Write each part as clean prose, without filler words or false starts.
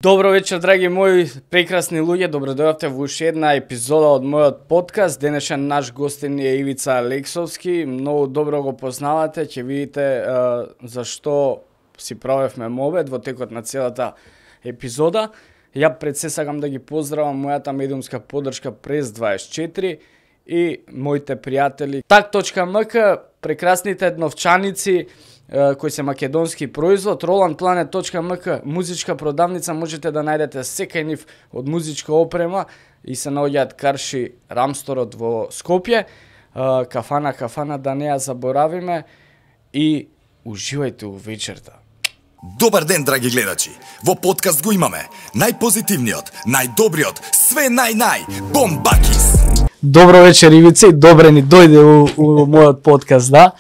Добро вечер, драги мои прекрасни луѓе, добродојавте во уште една епизода од мојот подкаст. Денешен наш гостин е Ивица Алексовски, многу добро го познавате, ќе видите зашто си правевме мовет во текот на целата епизода. Ја пред се сакам да ги поздравам мојата медиумска поддршка Прес 24 и моите пријатели Tak.mk, прекрасните новчаници кои се македонски производ, RolandPlanet.mk, музичка продавница, можете да најдете секај нив од музичка опрема и се наоѓаат Карши Рамсторот во Скопје, кафана да не ја заборавиме и уживајте у вечерта. Добар ден, драги гледачи! Во подкаст го имаме најпозитивниот, најдобриот, све Бомбакис! Добро вечер, Ивица, и добре ни дојде у мојот подкаст, да?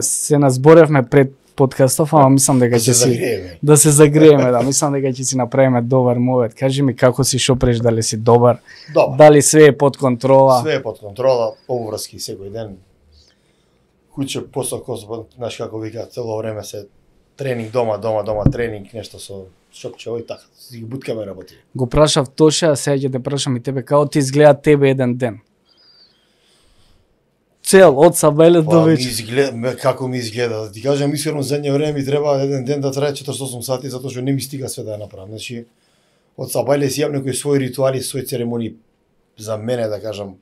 Се назборевме пред подкастов, ама мислам дека ќе си да се загрееме, да, мислам дека ќе си направиме добар мовет. Кажи ми како си шопреш, дали си добар? Добар. Дали све е под контрола? Све е под контрола, обврски секој ден. Куќе посоко, знаеш како вика, цело време се тренинг дома, тренинг, нешто со шопче, ој така, си ги буткаме работи. Го прашав Тоше, а сега ќе те прашам и тебе, како ти изгледа тебе еден ден? Цел, од сабајле до вечер. Како ми изгледа, да ти кажам искрено, задње време ми треба еден ден да трае 48 сати, затоа што не ми стига све да ја направам. Значи, од сабајле си јавам некои своји ритуали, своји церемонии за мене, да кажам,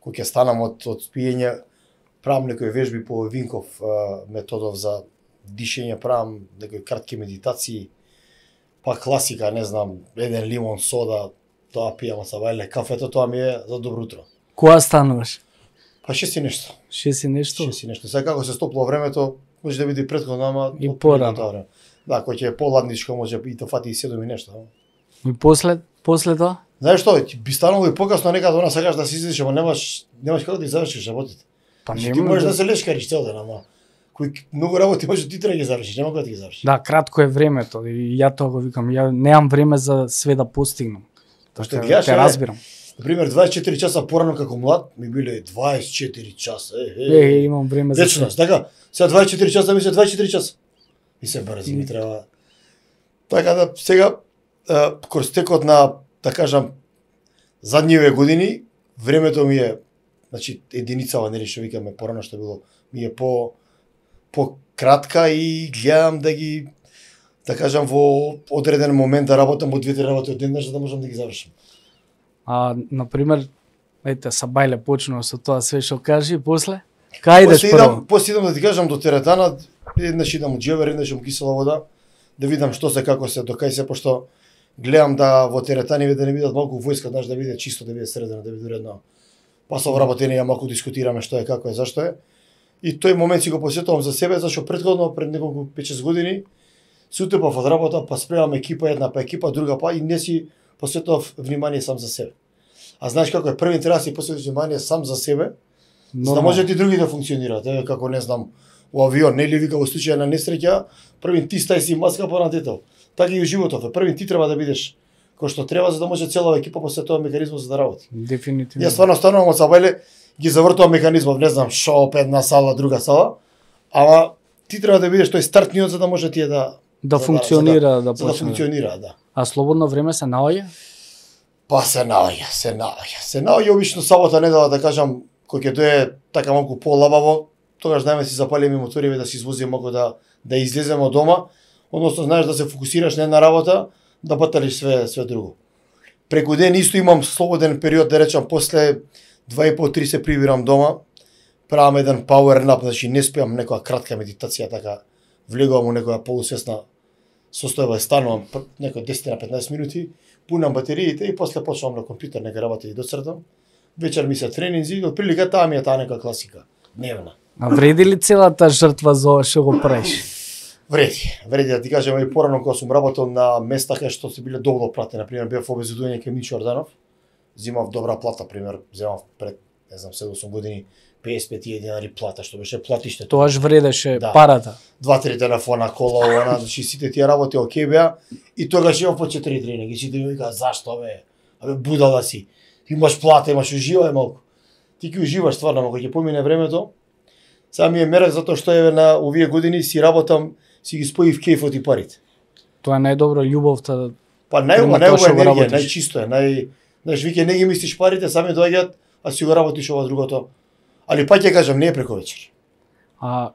кој ќе станам од спиење, правам некои вежби по Винков методов за дишење, правам некои кратки медитации, па класика, не знам, еден лимон, сода, тоа пијам од сабајле, кафето, тоа ми е за добро утро. Која стануваш? Па 6 и нешто. 6 и нешто? 6 и нешто. Сега како се стопло времето, може да биде претходно, ама и порано. Да, кој ќе е поладничко, може и да фати и 7 и нешто. И после тоа? Знаеш што, би станало и покасно некаде она сакаш да си излезеш, ама немаш како да завршиш работите. Па ти можеш да се лешкариш цел ден, ама кој многу работи може ти треба да ги завршиш, нема како да ги завршиш. Да, кратко е времето и ја тоа го викам, ја немам време за све да постигнам. Што гледаш, те разбирам. Например, 24 часа порано како млад ми биле 24 часа. Имам време за вечност, така. Сега 24 часа ми се 24 часа. И се брзи ми треба. Така да сега кроз текот на, да кажам, задниве години, времето ми е, значи единицава, нели што викаме порано што било, ми е по кратка и гледам да ги, да кажам, во одреден момент да работам од 2-3 работи од ден, за да можам да ги завршам. Например, ете, сабајле почнува со тоа све што кажи, после? Кај идеш прво? После идам да ти кажам до теретана, еднаш идам од џевер, еднаш од кисела вода, да видам што се, како се, до кај се, пошто гледам да во теретани да не бидат малку војска, да биде чисто, да биде средено, да биде уредно. Па со вработење малку дискутираме што е, како е, зашто е. И тој момент си го посетувам за себе, зашто претходно пред неколку 5-6 години се утепав од работа, па спремам екипа една, па екипа друга, па и не си посветував внимание сам за себе. А знаеш како е, првин треба да си посветиш внимание сам за себе, за да може и други да функционираат. Еве како не знам, у авион, нели вика во случај на несреќа, првин ти стај си маска по натетел. Така и у животот, првин ти треба да бидеш кој што треба за да може целава екипа посветува механизмот за да работи. Дефинитивно. Јас стварно станувам од сабајле, ги завртувам механизмов, не знам, шоп, една сала, друга сала, ама ти треба да бидеш тој стартниот за да може тие да функционира, да функционира, да. А слободно време се наоѓа? Па се наоѓа обично сабота, недела, да кажам, кој ќе дое така малку полабаво, тогаш знаеме си запалиме моториве да си извозиме малку да излеземе од дома, односно знаеш да се фокусираш на една работа, да баталиш све друго. Преку ден исто имам слободен период, да речам, после 2,5-3 се прибирам дома, правам еден power nap, значи не спиам некоја кратка медитација, така влегувам у некоја полусвесна состојба, станувам некој 10 на 15 минути, пунам батериите и после почнувам на компјутер нека работи и доцртам. Вечер ми се тренинзи, од прилика таа ми е таа нека класика, дневна. А вреди ли целата жртва за ова што го правиш? Вреди да ти кажам, и порано кога сум работел на места кај што се биле добро платени, например бев обезбедување кај Мичо Орданов, земав добра плата, пример, земав пред, не знам, 7-8 години 55 денари плата, што беше платиште. Тоаш вредеше парата. 2-3 телефона, кола, она, значи сите тие работи окей беа и тогаш имав по 4 тренинги. Сите ми викаат зашто бе? Абе будала си. Имаш плата, имаш уживај малку. Ти ќе уживаш стварно, кога ќе помине времето. Сега ми е мерак затоа што еве на овие години си работам, си ги споив кејфот и парите. Тоа е најдобро љубовта. Па најубава енергија, најчисто е, знаеш, веќе не ги мислиш парите, сами доаѓаат, а си го работиш ова другото. Али пак ќе кажам, не е преку вечер. А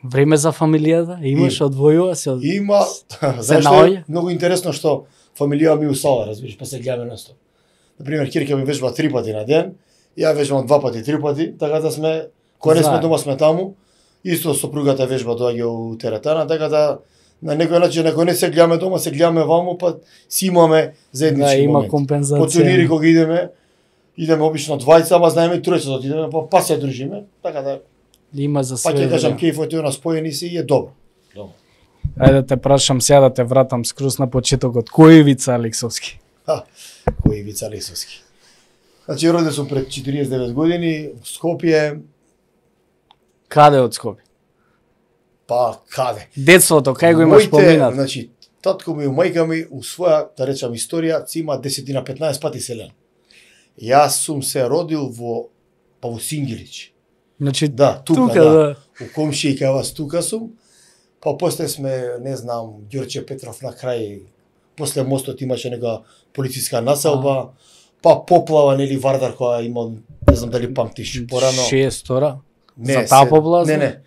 време за фамилијата имаш, одвојува се од... Има, знаеш што е многу интересно што фамилија ми усала, разбираш, па се гледаме настоп. Например, ќерка ми вежба 3 пати на ден, ја вежбам 2 пати, 3 пати, така да сме, кога не сме дома сме таму, исто сопругата вежба доаѓа у теретана, така да на некој начин, ако не се гледаме дома, се гледаме ваму, па си имаме заеднички има моменти. компензација. По турнири кога идеме обично двајца, ама знаеме тројца да отидеме, па се дружиме, така да има за све. Па ќе кажам кејфот е на спојени си и е добро. Ајде да те прашам сега, да те вратам скрус на почетокот. Кој е Ивица Алексовски? Кој е Ивица Алексовски? Значи роден сум пред 49 години во Скопје. Каде од Скопје? Па каде? Детството, кај го имаш поминат? Значи, татко ми и мајка ми у своја, да речам, историја, си има 10-15 пати селен. Јас сум се родил во Сингелич. Значи, да, тука, да. У комшија кај вас тука сум. Па после сме, не знам, Ѓорче Петров на крај, после мостот имаше нека полициска населба, па поплава, нели Вардар која има, не знам дали памтиш, порано. 6 за таа поплава? Не.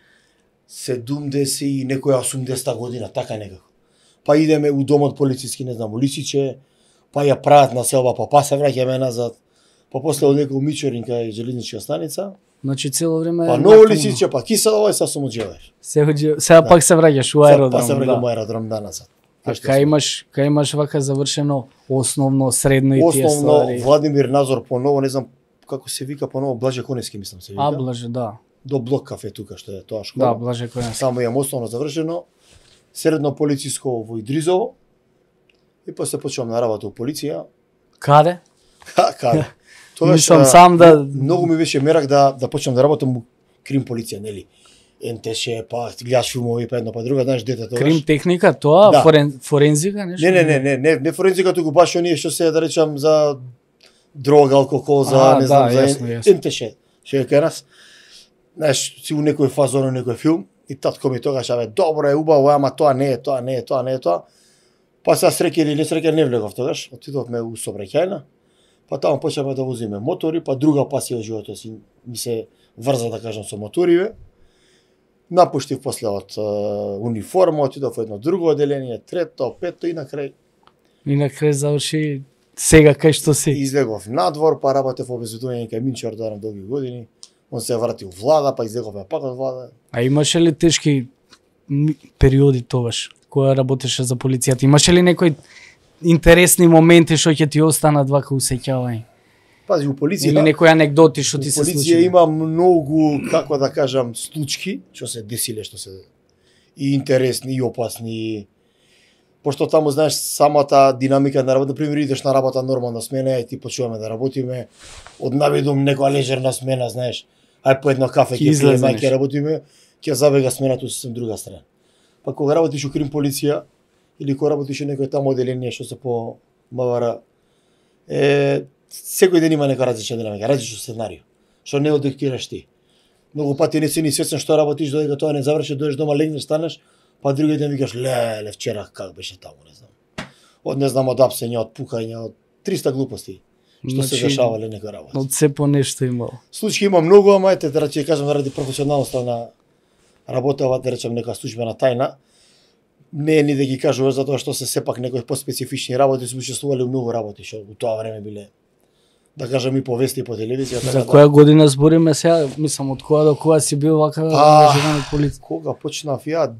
70 и некоја 80 година, така некако. Па идеме у домот полициски, не знам, у Лисиче, па ја прават населба, па се враќаме назад. Па после одека у Мичурин кај железничка станица. Значи цело време па Ново Лисиче, па Киселово и сега сум оџеваш. Сега пак се враќаш у аеродром. Па се враќам у аеродром назад. А кај имаш вака завршено основно, средно и тие ствари? Основно Владимир Назор поново, не знам како се вика поново, Блаже Коневски мислам се вика. А Блаже, да. До Блок кафе тука што е тоа школа. Да, Блаже Коневски. Само имам основно завршено. Средно полициско во Идризово. И после почнувам на работа у полиција. Каде? Каде? Мислам сам да... Многу ми беше мерак да почнам да работам у крим полиција, нели? НТШ, па гледаш филмови па едно па друго, знаеш дете тоа. Крим техника, тоа, да. Форензика, нешто? Не форензика, туку баш оние што се, да речам, за дрога, алкохол, за, не знам, за НТШ. Што е кај нас. Знаеш, си у некој фазон, у некој филм, и татко ми тогаш, добро е, убаво, ама тоа не е тоа. Па сега среќа или несреќа не влегов тогаш, отидовме у сообраќајна, па таму почнавме да возиме мотори, па друга пасија од животот си ми се врза, да кажам, со моториве. Напуштив после од униформа, отидов во едно друго одделение, трето, пето и на крај. И на крај заврши сега кај што си. Излегов надвор, па работев во обезбедување кај Минчо Ордаров долги години. Он се врати у влада, па излеговме пак од влада. А имаше ли тешки периоди тогаш, кога работеше за полицијата? Имаше ли некои интересни моменти што ќе ти останат вака усеќавање? Пази, у полиција... Или некои анегдоти што ти се случи? У полиција има многу, како да кажам, случки, што се десиле, што се... И интересни, и опасни. Пошто таму, знаеш, самата динамика на работа, например, идеш на работа нормална смена, и ти почуваме да работиме, од наведум некоја лежерна смена, знаеш, ај по едно кафе ќе пиеме, ќе работиме, ќе забега смената со друга страна. Па кога работиш у крим полиција, или кога работиш у некој таму одделение што се по МВР, секој ден има нека различна динамика, различно сценарио, што не одектираш ти. Многу пати не си ни свесен што работиш, додека тоа не заврши, дојдеш дома, легнеш, станеш, па други ден викаш, леле, вчера как беше таму, не знам. Не знам, од апсење, од пукање, од 300 глупости, што се дешавале некој работа. Од се по нешто имало. Случаи има многу, ама ете, да ќе кажам, заради професионалноста на работава, да речем, нека службена тајна, не е ни да ги кажуваш, затоа што се сепак некои поспецифични работи, се учествувале многу работи, што у тоа време биле, да кажам, и по вести и по телевизија. За која година збориме сега? Мислам, од која до која си бил вака ангажиран од полиција? Кога почнав ја,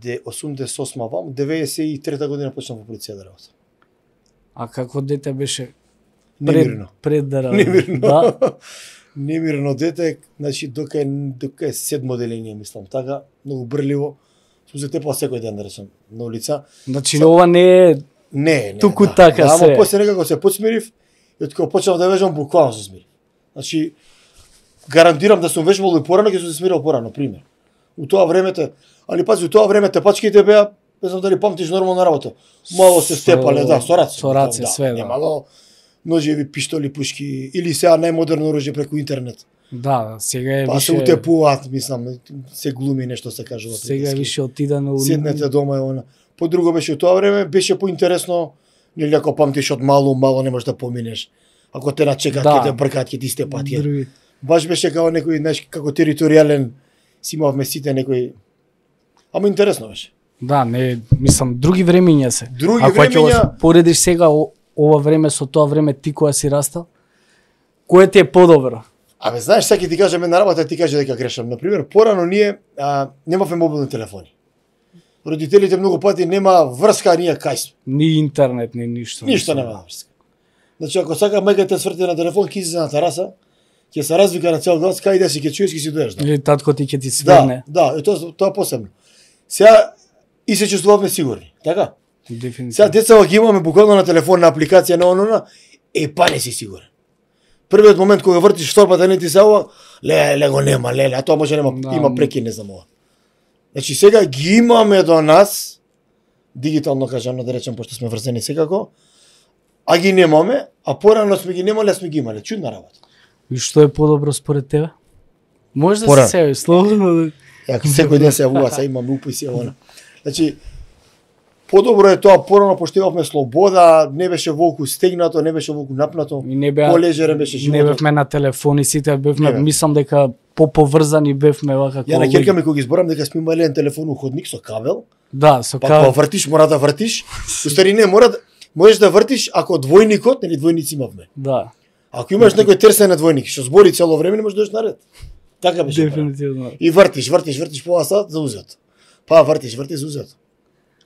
88 вам, 93 година почнав во полиција да работам. А како дете беше? Немирно. Пред да работам. Немирно. Да? Немирно дете, значи дока е седмо одделение, мислам, така, многу брливо. Сум се тепал секој ден, да речем, на улица. Значи ова не е не, туку така се. Ама после некако се подсмирив, и од кога почнав да вежбам, буквално се смирив. Значи, гарантирам да сум вежбал и порано, ќе сум се смирил порано, пример. У тоа времето, али пази, у тоа време тепачките беа, не знам дали памтиш нормална работа. Мало се степале, да, со раце. Со раце, све, да. Немало ножеви, пиштоли, пушки, или сега најмодерно оружје преку интернет. Да, сега е па више... се утепуваат, мислам, се глуми нешто се кажува. Сега е више отидано... Седнете дома, по друго беше тоа време, беше поинтересно, нели ако памтиш од мало не можеш да поминеш. Ако те начекат, ќе те бркаат, ќе ти степат. Баш беше како некој, знаеш, како територијален, си имавме сите некој. Ама интересно беше. Да, не, мислам, други времења се. Други ако времења... ќе поредиш сега ова време со тоа време ти кога си растал, кое ти е подобро? Абе, знаеш, сега ќе ти кажам една работа, ти кажа дека грешам. Например, порано ние немавме мобилни телефони. Родителите многу пати нема врска, а ние кај сме. Ни интернет, ни ништо. Ништо нема врска. Значи, ако сака мајка те сврти на телефон, ќе излезе на тераса, ќе се развика на цел глас, кај да си ќе чуеш, ќе си доеш. Или татко ти ќе ти сверне. Да, тоа посебно. Сега и се чувствуваме сигурни, така? Дефинитивно. Сега деца ги имаме буквално на телефон, на апликација на онона, па не си сигурен. Првиот момент кога вртиш торбата не ти се ова, ле го нема, а тоа може нема, да, има преки, не знам ова. Значи сега ги имаме до нас, дигитално кажано да речем, пошто сме врзани секако, а ги немаме, а порано сме ги немале, сме ги имале. Чудна работа. И што е подобро според тебе? Може да се себи, слободно. Јако секој ден се јавува, се имаме уписи она. Значи, подобро е тоа, порано пошто имавме слобода, не беше волку стегнато, не беше волку напнато, полежерен беше животот. Не бевме на телефони, сите бевме, мислам дека поповрзани бевме вака. Ја на ќерка ми кога ги зборам дека сме имале еден телефон у ходник со кабел. Да, со кабел. Па вртиш, мора да вртиш. Устари не, можеш да вртиш ако двојникот, нели двојници имавме. Да. Ако имаш некој терсен на двојник, што збори цело време, не можеш да дојдеш наред. Така беше. Дефинитивно. И вртиш пола сат за узето. Па вртиш за узето.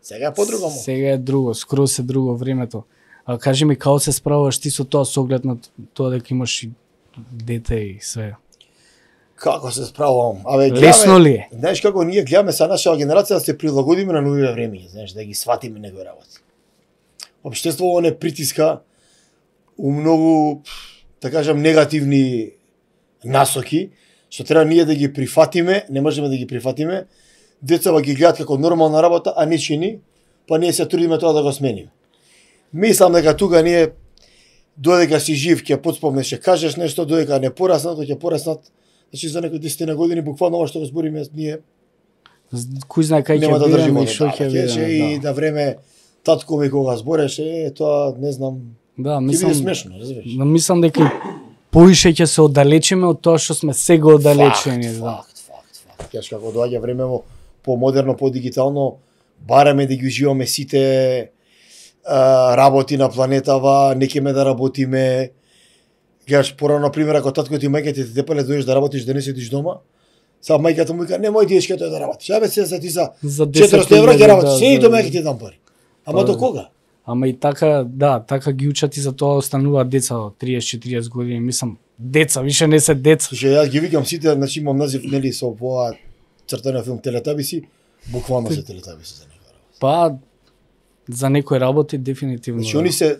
Сега е подруго. Сега е друго, скроз е друго времето. А кажи ми како се справуваш ти со тоа со оглед на тоа дека имаш и дете и све? Како се справувам? Абе, лесно ли е? Знаеш како ние гледаме са нашава генерација да се прилагодиме на новите времења, знаеш, да ги сватиме некои работи. Општеството не притиска у многу, да кажам, негативни насоки, што треба ние да ги прифатиме, не можеме да ги прифатиме. Децава ги гледат како нормална работа, а не чини, па ние се трудиме тоа да го смениме. Мислам дека тука ние додека си жив ќе потспомнеш, ќе кажеш нешто, додека не пораснат, ќе пораснат. Значи за некои 10 години буквално ова што го збориме ние кој знае кај ќе бидеме и што ќе бидеме. И на време татко ми кога збореше, тоа не знам. Да, мислам смешно, разбираш. Мислам дека поише ќе се оддалечиме од тоа што сме сега оддалечени. Факт. Кеш како доаѓа време по-модерно, по-дигитално, бараме да ги уживаме сите работи на планетава, не кеме да работиме. Гледаш, порано, например, ако татко ти и мајка ти те тепале дојдеш да работиш, да не седиш дома, сега мајката му вика, немој дечке тој да работиш. Абе, се ти за 400 евра ќе работиш, се и до мајка ти дам пари. Ама до кога? Ама и така, да, така ги учат и за тоа остануваат деца од 30-40 години, мислам, деца, више не се деца. Слушај, јас ги викам сите, значи имам назив, нели, со овоа цртана филм Телетабиси, буквално се Телетабиси за некој работи. Па, за некој работи дефинитивно. Значи, они се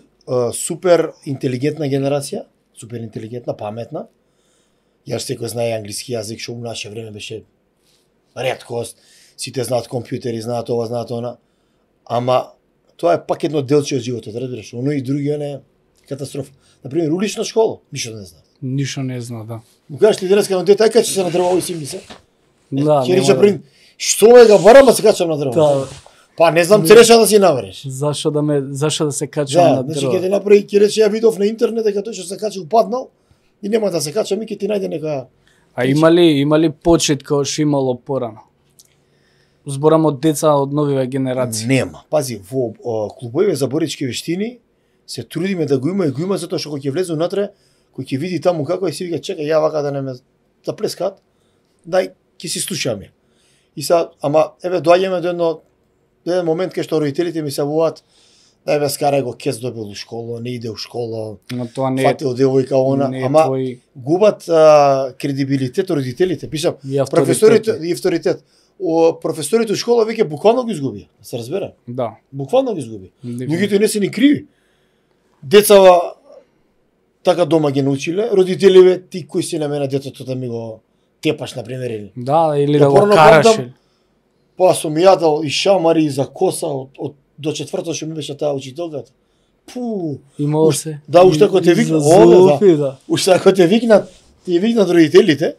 супер интелигентна генерација, супер интелигентна, паметна. Јас секој знае англиски јазик, што у наше време беше реткост. Сите знаат компјутери, знаат ова, знаат она. Ама тоа е пак едно делче од животот, разбираш? Оно и други не катастрофа. Например, улична школа, ништо не знаат. Ништо не знае, да. Му кажеш ли денеска на дете, ај качи се на дрво и си ми се. Да, ќе рече прин, што ме га барам, а се качам на дрво. Да. Па не знам цреша да си навреш. Зашо да се качам на дрво? Значи ќе те направи, ќе рече ја видов на интернет дека тој што се качи упаднал и нема да се кача, ми ќе ти најде нека. А има ли почит како што имало порано? Зборам од деца од новиве генерации. Нема. Пази, во клубовите за борички вештини се трудиме да го има и го има затоа што кога ќе влезе унатре, кој ќе види таму како и си вика чекај ја вака да не ме заплескаат, дај ќе си слушаме. И са, ама еве доаѓаме до еден момент кај што родителите ми се вуваат, да еве скарај го кец добил у школа, не иде у школа. Но тоа не фатил девојка она, ама губат кредибилитет родителите, пишам, професорите и авторитет. Професорите у школа веќе буквално го изгубија, се разбера? Да. Буквално го изгуби. Луѓето не се ни криви. Децава така дома ги научиле, родителиве ти кој си на мене детето да ми го тепаш на пример или. Да, или да го караш. Па сум јадал и шамари за коса од до четврто што ми беше таа учителката. Пу. Имало се. Да, уште ако те викнат, да. Уште ако те викнат, ти викнат родителите.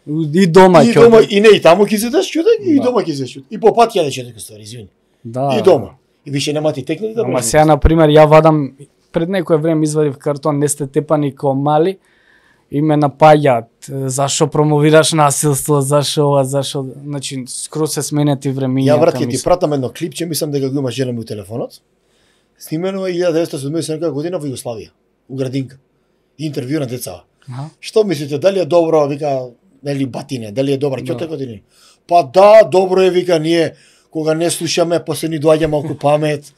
И дома ќе. И дома и не и таму ќе се даш чудак, и дома ќе се чуд. И по пат ќе да чудак ствари, извини. Да. И дома. И више нема ти техники да Ама сега, например, ја вадам, пред некое време извадив картон, не сте тепани ко мали, и ме напаѓаат, зашо промовираш насилство, зашо ова, зашо, значи, скроз се сменети времињата. Ја брат, ќе ти пратам едно клипче, мислам дека го има жена ми у телефонот. Снимено е 1970 година во Југославија, у градинка. Интервју на деца. Што мислите, дали е добро, вика, нели батине, дали е добра ќота години? Па да, добро е, вика, ние кога не слушаме, после ни доаѓа малку памет,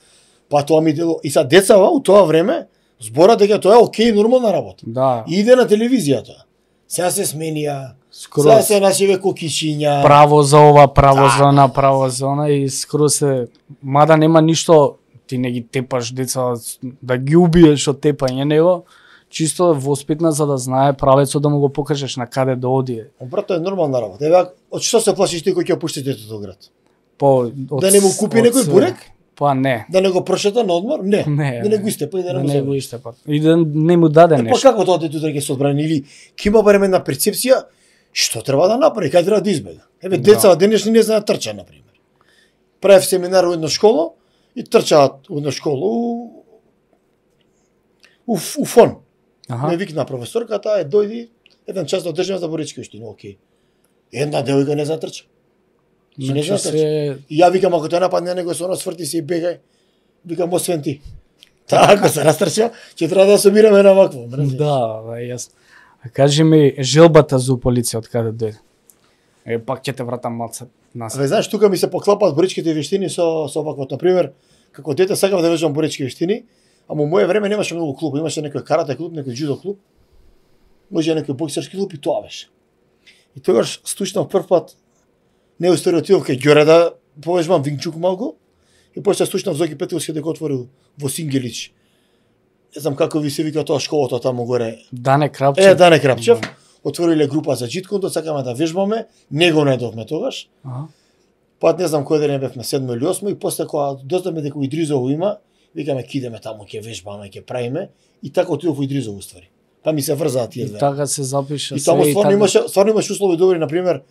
па тоа ми дело. И са децава у тоа време збора дека тоа е окей, нормална работа. Да. И иде на телевизијата. Сега се сменија, сега се нашиве кокишиња. Право за ова, право за она, право за она и скроз се, мада нема ништо, ти не ги тепаш деца да ги убиеш од тепање него, чисто воспитна за да знае правецот да му го покажеш на каде да оди. Брат, тоа е нормална работа. Еве, од што се плашиш ти кој ќе пушти детето од град? Да не му купи некој бурек? Па не. Да не го прошета на одмор? Не. Не. Да не го истепа и да не го истепа. И да не му даде нешто. Па како тоа детето ќе се одбрани или ќе има барем една перцепција што треба да направи, кај треба да избега. Еве децата денешни не знаат трча на пример. Правев семинар во една школа и трчаат во една школа у фон. Ме викна професорката, дојди еден час да одржиме за Борички општина, окей. Една девојка не затрча. Не знам И ја викам, ако те нападне некој со нос, сврти се и бегај. Викам, освен ти. Ако се растрча, ќе треба да собираме на вакво. Да, јасно. А кажи ми, желбата за полиција од каде дојде? Пак ќе те вратам малце назад. Знаеш, тука ми се поклапаат боричките вештини со ваквото. Например, како дете сакав да вежбам борички вештини, ама во мое време немаше многу клуб, имаше некој карате клуб, некој джудо клуб, може некој боксерски клуб и тоа беше. И тогаш стучнав прв пат, не отидов кај Ѓоре да повежбам вингчук малку, и после стучнав Зоки Петковски дека отворил во Сингелич. Не знам како ви се вика тоа школата таму горе. Дане Крапчев. Дане Крапчев. Отвориле група за джиткондо, сакаме да вежбаме, не го најдовме тогаш. Па не знам кој ден бевме 7 или 8 и после кога дознавме дека Идризово има, викаме ќе идеме таму, ќе вежбаме, ќе правиме и така отидов во Идризово уствари. Па ми се врзаат тие две. И така се запиша. И таму стварно имаш услови добри, на пример,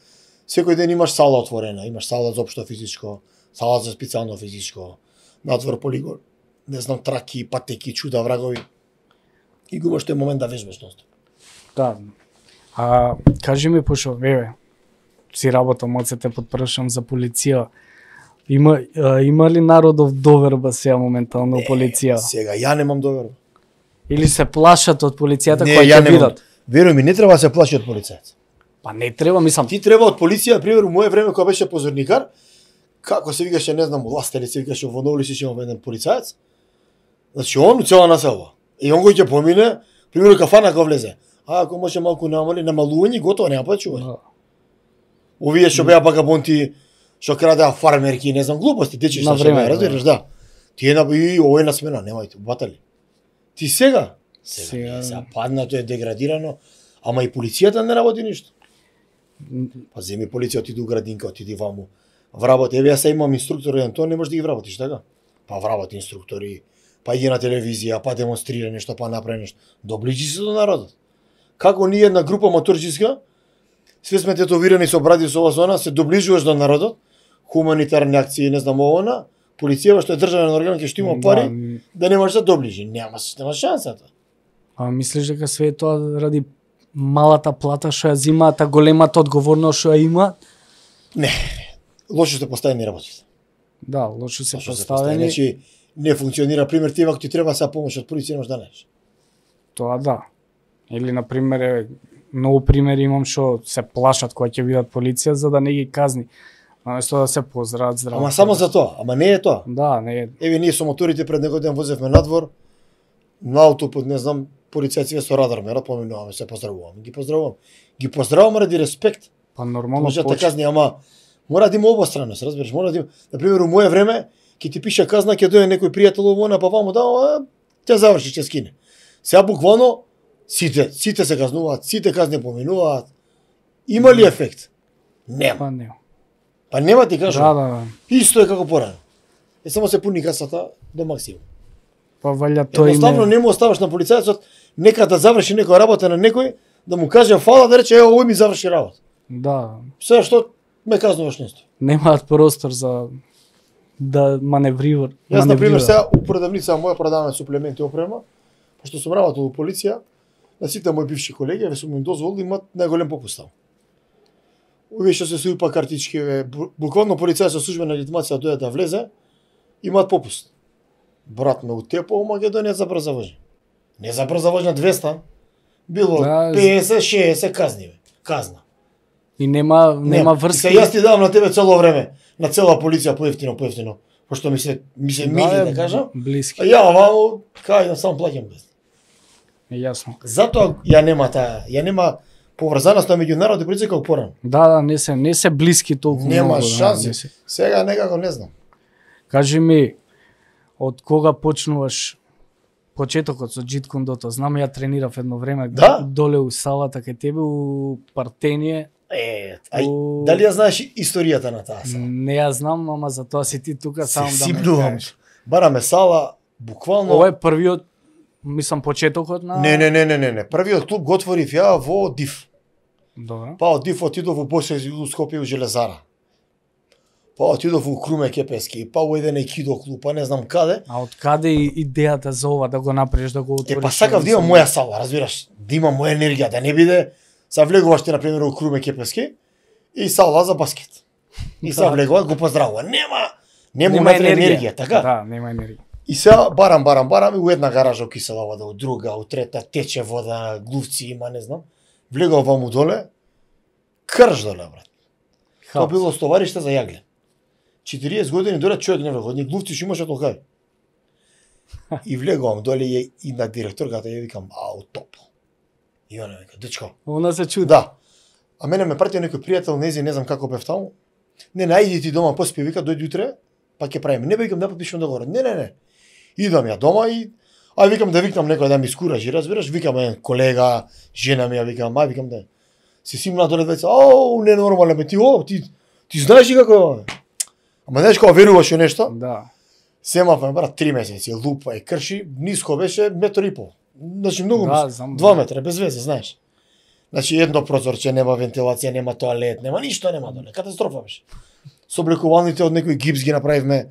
секој ден имаш сала отворена, имаш сала за општо физичко, сала за специјално физичко, надвор полигон, не знам, траки, патеки, чуда, врагови. И го имаш тој момент да вежбаш ностоп. Да. А кажи ми, пошо, си работам, малце те подпрашам за полиција. Има ли народов доверба сега моментално полиција? Сега ја немам доверба. Или се плашат од полицијата која ќе видат? Веруј ми, не треба да се плаши од полицајец. Па не треба, мислам. Ти треба од полиција, пример, у мое време кога беше позорникар, како се викаше, не знам, власта или се викаше во Новолиш има еден полицаец. Значи он у цела населба. И он го ќе помине, пример кафана кога влезе. А ако може малку намалување, готово, нема почување. Овие што беа вагабонти, што крадеа фармерки, не знам, глупости, дечи што беа, разбираш, да. Тие и овој на смена, немајте, батали. Ти сега паднато е деградирано, ама и полицијата не работи ништо. Па земи полиција, отиди у градинка, отиди ваму. Вработи, еве ја се имам инструктор еден, тоа не можеш да ги вработиш, така? Па вработи инструктори, па иде на телевизија, па демонстрира нешто, па направи нешто. Доближи се до народот. Како ние една група моторџиска, све сме тетовирани со бради со ова зона, се доближуваш до народот, хуманитарни акции, не знам овона, полицијава што е државен орган ќе што има пари, да не може да доближи, нема шансата. А мислиш дека све тоа ради малата плата што ја зимаат, а големата одговорност што ја има? Не, лошо се поставени работите. Да, лошо се поставени. Значи, не функционира, пример, ти ако ти треба сега помош од полиција, немаш да најдеш. Тоа да. Или, например, многу примери имам што се плашат кога ќе видат полиција за да не ги казни. Наместо да се поздрават здраво. Ама само за тоа, ама не е тоа. Да, не е. Еве ние со моторите пред некој ден возевме надвор, на аутопут, не знам, полицајците со радар ме поминуваме, се поздравувам. Ги поздравувам ради респект. Па нормално може да те казни, ама мора да има обостраност, разбираш, мора да има. На пример, у мое време ќе ти пише казна, ќе дојде некој пријател овона, па ваму да, ќе заврши, ќе скине. Сега буквално сите се казнуваат, сите казни поминуваат. Има ли ефект? Нема. Па нема. Па нема ти кажам. Да. Исто е како порано. Само се пуни касата до максимум. Па валја тоа едноставно не му оставаш на полицајецот нека да заврши некоја работа на некој, да му каже фала, да рече овој ми заврши работа. Да. Се што ме казнуваш нешто. Немаат простор за да маневрира. Јас на пример сега у продавница моја продаваме суплементи опрема, пошто сум работел у полиција, на сите мои бивши колеги ве сум им дозволил да имат најголем попуст. Уве што се суипа картички, буквално полицај со службена легитимација дојде да влезе, имаат попуст. Брат ме утепо у Македонија за брза воžnја. Не за брза воžnја 200, било 50-60 казни, казна. И нема врски. Јас ти давам на тебе цело време, на цела полиција поевтино, пошто ми се мили да кажам. Блиски. Ја вамо кај сам плаќам без. Јасно. Затоа ја нема поврзаност меѓу народ и полиција како порано. Да, не се блиски толку многу. Нема шанси. Сега некако не знам. Кажи ми, од кога почнуваш почетокот со Джит Кундото? Знам, ја тренирав едно време доле у салата кај тебе у Партение. Дали ја знаеш историјата на таа сала? Не ја знам, ама за тоа си ти тука сам да ме кажеш. Бараме сала, буквално... Ова е првиот, мислам, почетокот на... Не. Првиот клуб го отворив ја во Див. Добро. Па од Див отидов во Босија и Скопје у Железара. Па отидов у Круме Кепески, па у еден екидо клуб, па не знам каде. А од каде идејата за ова да го направиш, да го отвориш? Па сакав да имам моја сала, разбираш, да имам моја енергија, да не биде са влегуваш ти на пример у Круме Кепески и сала за баскет. И са влегува, го поздравува. Нема енергија, така? Да, нема енергија. И сега барам и у една гаража у Кисела вода, у друга, у трета тече вода, глувци има, не знам. Влегувам ваму доле, крш доле, брат. Тоа било стовариште за јагле. 40 години доле човек не влегува, ни глувци што имаше толкај. И влегувам доле и на директорката ја викам, ау, топло. И она вика, дечко. Она се чуди. Да. А мене ме пратил некој пријател, не знам како бев таму. Не, најди ти дома, поспи, вика, дојди утре, па ќе правиме. Не викам да подпишувам договор. Не. Идам ја дома и викам да викнам некој да ми скуражи, разбираш? Викам еден колега, жена ми ја викам, викам да се симна доле двајца. Не нормално ме ти знаеш ли како е ова? Ама знаеш кога веруваш во нешто? Да. Семав брат 3 месеци, лупа и крши, ниско беше метар и пол. Значи многу да, 2 метра, без везе, знаеш. Значи едно прозорче, нема вентилација, нема тоалет, нема ништо, нема доле. Катастрофа беше. Со облекувалните од некој гипс ги направивме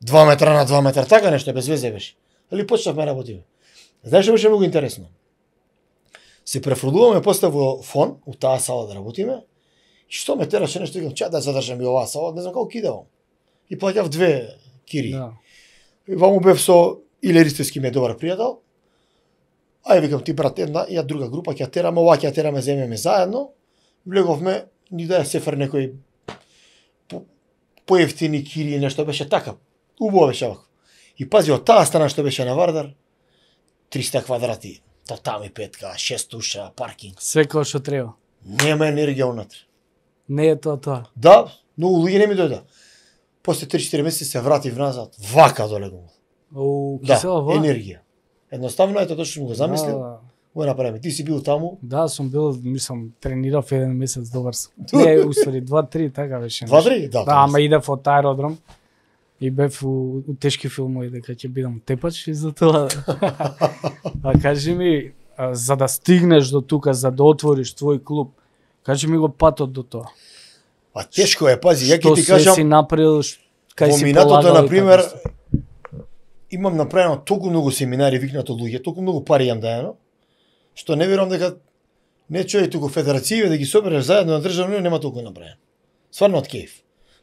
2 метра на 2 метра, така нешто без везе беше. Али почнавме работиме. Знаеш што беше многу интересно? Се префрлуваме после во фон, у таа сала да работиме. И што ме тераше нешто, викам, ча да задржам и оваа сала, не знам како кидавам. И плаќав 2 кири. Да. И ваму бев со Иле Ристевски ми е добар пријател. Ај викам ти брат една, ја друга група ќе тераме, ова ќе тераме, земеме заедно. Влеговме, ни да сефер некој поевтини кири, нешто беше така. Убаво беше вака. И пази од таа страна што беше на Вардар, 300 квадрати, татами петка, 6 уша, паркинг. Све како што треба. Нема енергија унатре. Не е тоа. Да, многу луѓе не ми дојде. После 3-4 месеци се вратив назад, вака доле го. Кисела вода? Енергија. Едноставно ето тоа што сум го замислил. Го направиме. Ти си бил таму? Да, сум бил, мислам, тренирав еден месец, добар сум. Не, уствари 2-3 така беше. 2-3? Да. Ама идев од аеродром и бев у тешки филмови дека ќе бидам тепач и за тоа. А кажи ми, за да стигнеш до тука, за да отвориш твој клуб, кажи ми го патот до тоа. Па тешко е, пази, ја ќе ти кажам. Што си направил, кај си полагал? Во минатото, например, имам направено толку многу семинари, викнато луѓе, толку многу пари јам даено, што не верувам дека не човек туку федерацији да ги собереш заедно на државно нема толку направено. Стварно од кејф.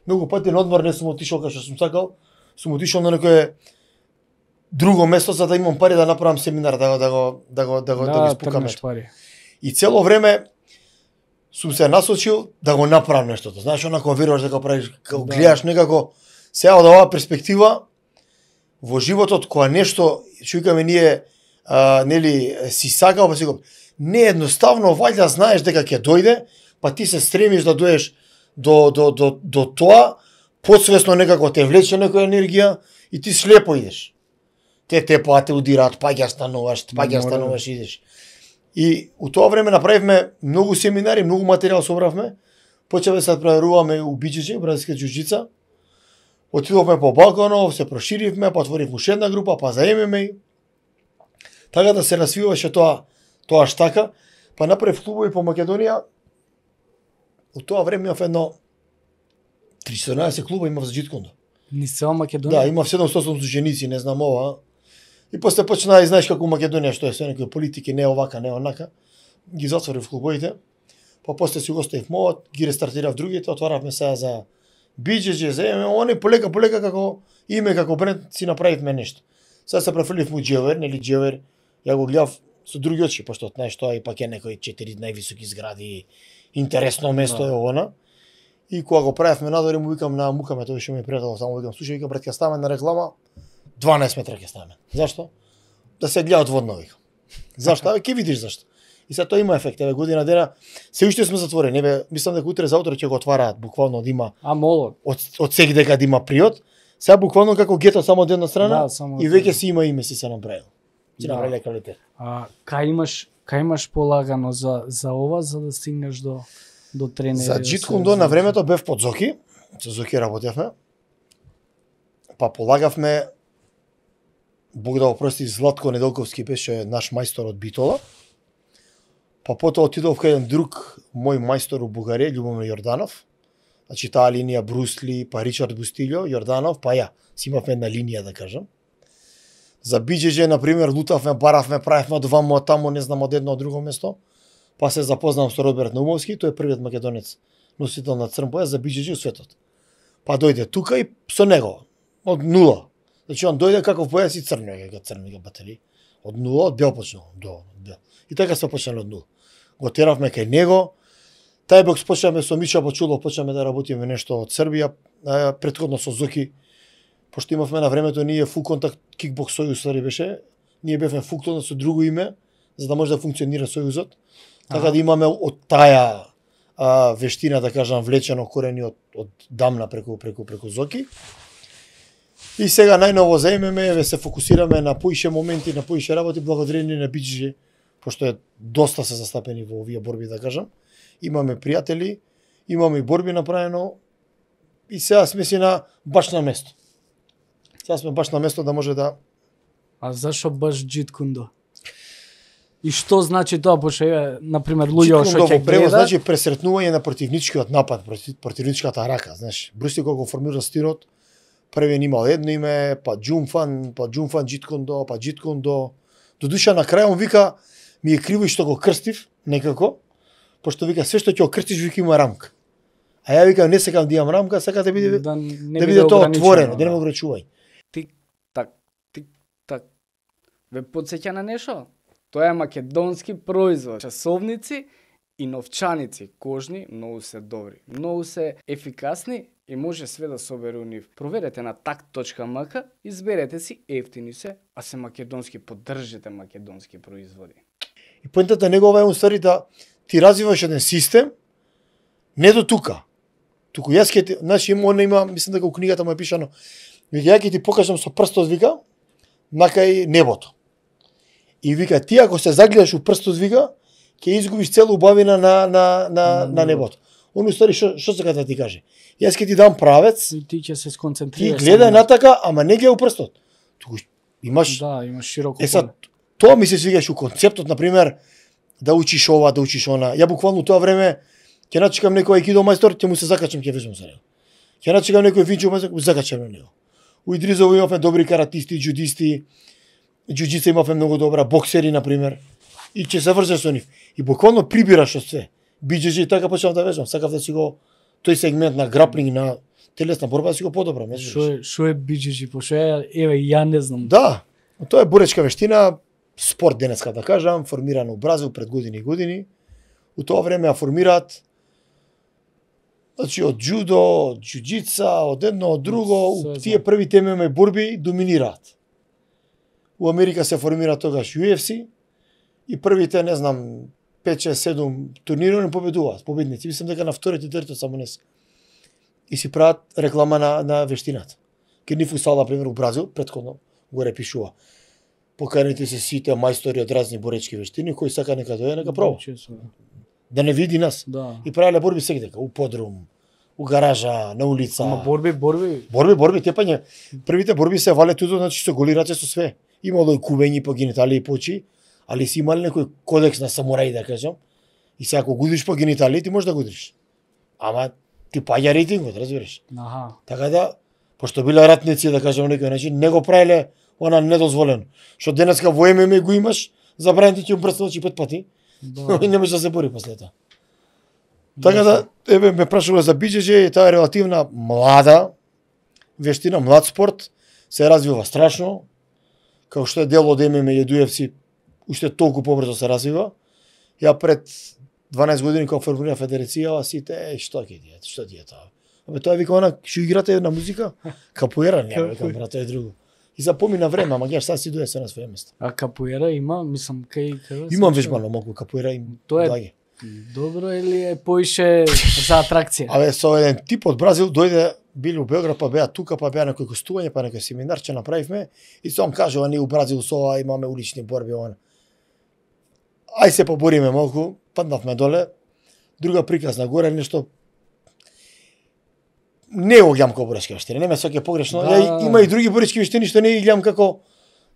Многу пати на одмор не сум отишол кај што сум сакал, сум отишол на некое друго место за да имам пари да направам семинар, да го спукаме. И цело време сум се насочил да го направам нештото. Знаеш, онако веруваш дека правиш, гледаш некако сега од оваа перспектива во животот кога нешто што викаме ние нели си сакал, па си го не едноставно вајда знаеш дека ќе дојде, па ти се стремиш да доеш до тоа, подсвесно некако те влече некоја енергија и ти слепо идеш. Те удираат, стануваш, идеш. И у тоа време направивме многу семинари, многу материјал собравме, почевме се проверуваме у Биџиџи, бразилска џуџица. Отидовме по Балканов, се проширивме, па отворивме уште една група, па за ММА. Така да се развиваше тоа штака, па направив клубови по Македонија. У тоа време имав едно 14 клуба имав за Джит Кундо. Низ цела Македонија? Да, има 700 ученици, не знам ова. И после почна, и знаеш како Македонија, што е се некои политики, не овака, не онака. Ги затворив клубовите. Па после си го оставив мовот, ги рестартирав другите, отваравме сега за BJJ, за они полека како име, како бренд, си направивме нешто. Сега се префрлив му Джевер, нели Джевер, ја го гледав со други очи, пошто знаеш тоа и пак е некои 4 највисоки згради, интересно место е она. И кога го правевме надвор, му викам на Мукаме, тој беше ми пријател, само викам, слушај, викам, брат, ќе ставаме на реклама, 12 метра ќе ставаме. Зашто? Да се гледа одводно, викам. Зашто? Абе, ќе видиш зашто. И сега тоа има ефект, еве година дена, се уште сме затворени, еве, мислам дека утре за утре ќе го отвараат, буквално да има молот. Од секи дека да има приот. Сега буквално како гето само од една страна, само и веќе си има име си се направил. Си направиле квалитет. Кај имаш полагано за ова, за да стигнеш до тренери? За Джиткундо на времето бев под Зоки, со Зоки работевме. Па полагавме, Бог да го прости, Златко Неделковски беше наш мајстор од Битола. Па потоа отидов кај еден друг мој мајстор у Бугарија, Љубомир Јорданов. Значи таа линија Брусли, па Ричард Бустилјо, Јорданов, па ја, си имавме една линија да кажам. За BJJ, например, лутавме, баравме, правевме од вамо, од таму, не знам, од едно од друго место. Па се запознам со Роберт Наумовски, тој е првиот македонец носител на црн појас за BJJ у светот. Па дојде тука и со него, од нула. Значи он дојде каков појас и црни батери. Од нула, од бел почнал, до бел. И така се почнали од нула. Го теравме кај него. Тај бокс почнаме со Мича Бачулов, почнаме да работиме нешто од Србија, претходно со Зоки, пошто имавме на времето ние фул контакт кикбокс сојуз ствари беше, ние бевме фуктон со друго име, за да може да функционира сојузот. Така да имаме од таа вештина, да кажам, влечено корени од дамна преку Зоки. И сега најново заемеме, еве се фокусираме на поише моменти, на поише работи благодарение на BJJ, пошто е доста се застапени во овие борби, да кажам. Имаме пријатели, имаме и борби направено и сега сме си баш на место. Сега сме баш на место да може да... А зашо баш Джиткундо? И што значи тоа, пошто е, например, луѓе што ќе гледа... значи пресретнување на противничкиот напад, противничката рака, знаеш. Бруси кога го формира стилот, првен имал едно име, па Джумфан Джиткундо, па Джиткундо. Додуша на крај он вика, ми е криво и што го крстив, некако, пошто вика све што ќе го крстиш вика има рамка. А ја викам не сакам да имам рамка, сакам да биде тоа отворено, да не ме ограничувај. Тик-так. Ве потсеќа на нешто? Тоа е македонски производ. Часовници и новчаници кожни многу се добри, многу се ефикасни и може све да собере у нив. Проверете на tak.mk, изберете си, ефтини се, а се македонски, поддржете македонски производи. И поентата негова е уствари да ти развиваш еден систем, не до тука. Туку јас ќе ти, значи има, мислам дека у книгата му е пишано, вика ја ќе ти покажам со прстот вика накај небото. И вика ти ако се загледаш у прстот вика ќе изгубиш цела убавина на небото. Он уствари што сака да ти каже? Јас ќе ти дам правец. И ти ќе се сконцентрираш. Ти гледај натака, ама не гледај у прстот. Туку имаш имаш широко поле. Тоа ми се свигаш у концептот, например, да учиш ова, да учиш она. Ја буквално тоа време ќе начекам некој аикидо мајстор, ќе му се закачам, ќе вежам за него. Ќе начекам некој винчо мајстор, ќе закачам на него. У Идризово имавме добри каратисти, џудисти, џуџица имавме многу добра, боксери например, и ќе се врзеш со нив. И буквално прибираш од све. BJJ така почнав да вежам, сакав да си го тој сегмент на граплинг, на телесна борба да си го подобрам. Што е BJJ? Пошто еве ја не знам. Да, тоа е боречка вештина, спорт денеска да кажам, формиран у Бразил пред години и години. У тоа време ја формираат значи од џудо, од џуџица, од едно, од друго, тие првите ММА борби доминираат. У Америка се формира тогаш UFC и првите, не знам, 5-6-7 турнири не победуваат, победници. Мислам дека на вторите и третото само не се. И си прават реклама на вештината. Ке ни фусал, например, у Бразил, предходно горе пишува. Поканите се сите мајстори од разни боречки вештини, кој сака нека дојде, нека проба. Да не види нас. Да. И правеле борби секдека, у подрум, у гаража, на улица. Ама борби. Тепање. Првите борби се вале туто, значи со голи раци со све. Имало и кубењи по гениталии и по очи, али си имали некој кодекс на самурај, да кажам. И сега ако гудиш по гениталии, ти можеш да гудиш. Ама ти паѓа рейтингот, разбираш. Аха. Така да, пошто биле ратници, да кажем некој начин, не го правеле она недозволено. Што денеска во ММА го имаш, забранети ќе брсне очи 5 пати. И не може да се бори после тоа. Така да, еве ме прашувале за BJJ, таа е релативна млада вештина, млад спорт, се развива страшно, како што е дел од ММА и UFC, уште толку побрзо се развива. Ја пред 12 години кога формира федерацијава, сите, што ти е тоа? Абе тоа вика она, што играте на музика? Капуера, не, вика брате, е друго. И запомина време, ама геш, сад си дојде се на своје место. А капуера има, мислам, кај... Имам вежбано малку капуера им даѓе. Добро или е поише за атракција? Абе, со еден тип од Бразил дојде, били у Београд, па беа тука, па беа некој гостување, па некој семинар ќе направивме и сам кажува, ние у Бразил со ова имаме улични борби, она. Ај се побориме малку, паднавме доле, друга приказна горе, нешто не го гледам како боречки вештини, не ме сваќа погрешно. Ја има и други боречки вештини што не ги гледам како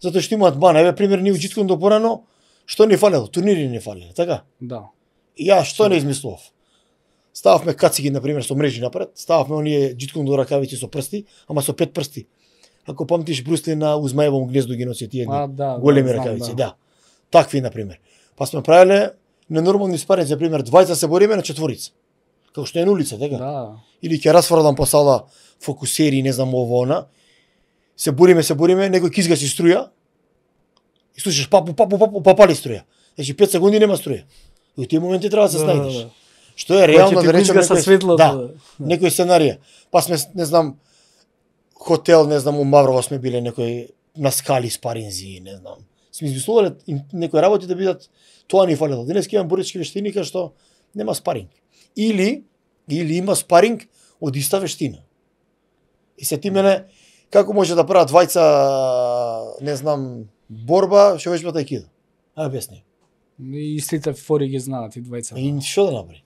затоа што имаат мана. Еве пример ни уџиткон до порано, што не фалело, турнири не фалеле, така? Да. И ја што не измислував? Стававме кацики на пример со мрежи напред, стававме оние џиткон до ракавици со прсти, ама со 5 прсти. Ако памтиш Брусли на Узмаевом гнездо ги носи тие големи ракавици, да. Такви на пример. Па сме правеле ненормални спарења, за пример, двајца се бориме на четворица. Како што е на улица, така? Да. Или ќе расфрлам по сала фокусери, не знам ово она. Се бориме, некој ќе изгаси струја. И слушаш папу, пали струја. Значи 5 секунди нема струја. И во тие моменти треба да се снајдеш. Што е реално да речеме некој сценарија. Па сме, не знам, хотел, не знам, у Маврово сме биле некој на скали спаринзи, не знам. Сме измислувале некои работи да бидат, тоа ни фалело. Денеска имам боречки вештини кај што нема спаринг. Или има спаринг од иста вештина. И се ти мене, како може да прават двајца, не знам, борба, што веќе тајкидо? Ај објасни. И истите фори ги знаат и двајца. И што да направи?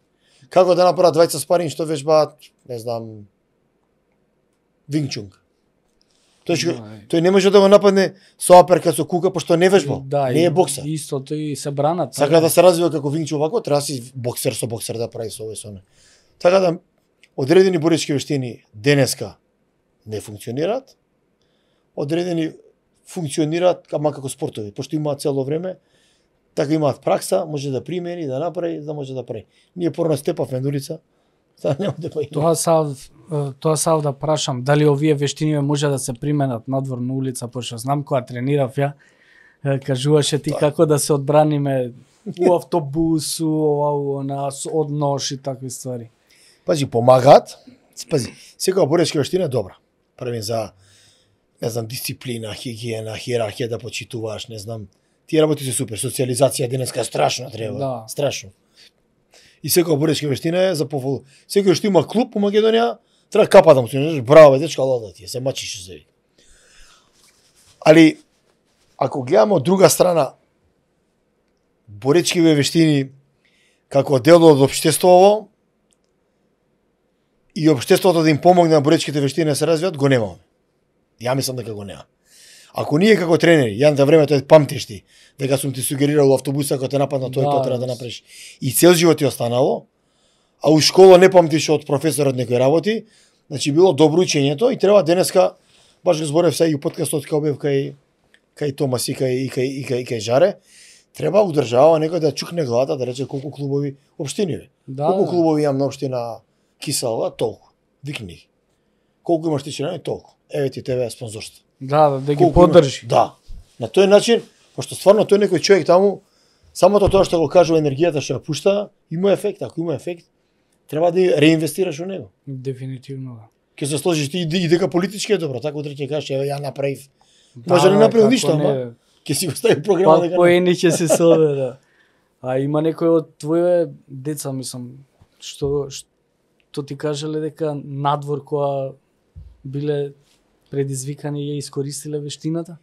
Како да направат двајца спаринг што веќе не знам, Винчунг. Тој не може да го нападне со аперкат со кука, пошто не вежбал, не е боксер. Истото и се бранат. Сака да се развива како Винчу овако, треба си боксер со боксер да прави со овој со оне. Така да, одредени боречки вештини денеска не функционираат, одредени функционираат, ама како спортови, пошто имаат цело време, така имаат пракса, може да примени, да направи, да може да прави. Ние порано степавме на улица, сега нема да па Тоа сав да прашам, дали овие вештини може да се применат надвор на улица, пошто знам кога тренирав ја, кажуваше ти како да се одбраниме у автобусу, од нож и такви ствари. Пази, помагаат. Пази, секоја боречка вештина е добра. Правим за, не знам, дисциплина, хигиена, хиерархија да почитуваш, не знам. Тие работи се супер. Социализација денеска страшно треба. Да. Страшно. И секоја боречка вештина е за пофол. Секој што има клуб по Македонија, треба капа да му се браво, дечка, лода ти, се мачиш се. Али, ако гледаме од друга страна, боречкиве вештини како дел од општеството и општеството да им помогне на боречките вештини да се развијат, го немаме. Ја мислам дека го нема. Ако ние како тренери, ја на времето памтиш ти, дека сум ти сугерирал автобуса кога те нападна тој тоа треба да направиш. И цел живот ти останало, а у школа не памтиш од професорот некои работи, значи било добро учењето и треба денеска, баш го зборев сега и у подкастот кога бев кај Томас и кај Жаре, треба у држава некој да чукне главата да рече колку клубови општини. Колку клубови имам на општина Кисела, толку. Викни. Колку имаш ти членови, толку. Еве ти тебе спонзорство. Да ги поддржи. Да. На тој начин, пошто стварно тој некој човек таму, самото тоа што го кажува енергијата што ја пушта, има ефект. Ако има ефект, треба да реинвестираш во него. Дефинитивно. Ќе се сложиш ти и дека политички е добро, така утре ќе кажеш еве ја направив. Може да не направил ништо, ама ќе си го стави програма дека. По ени ќе се собере. А има некој од твоите деца, мислам, што ти кажале дека надвор кога биле предизвикани ја искористиле вештината?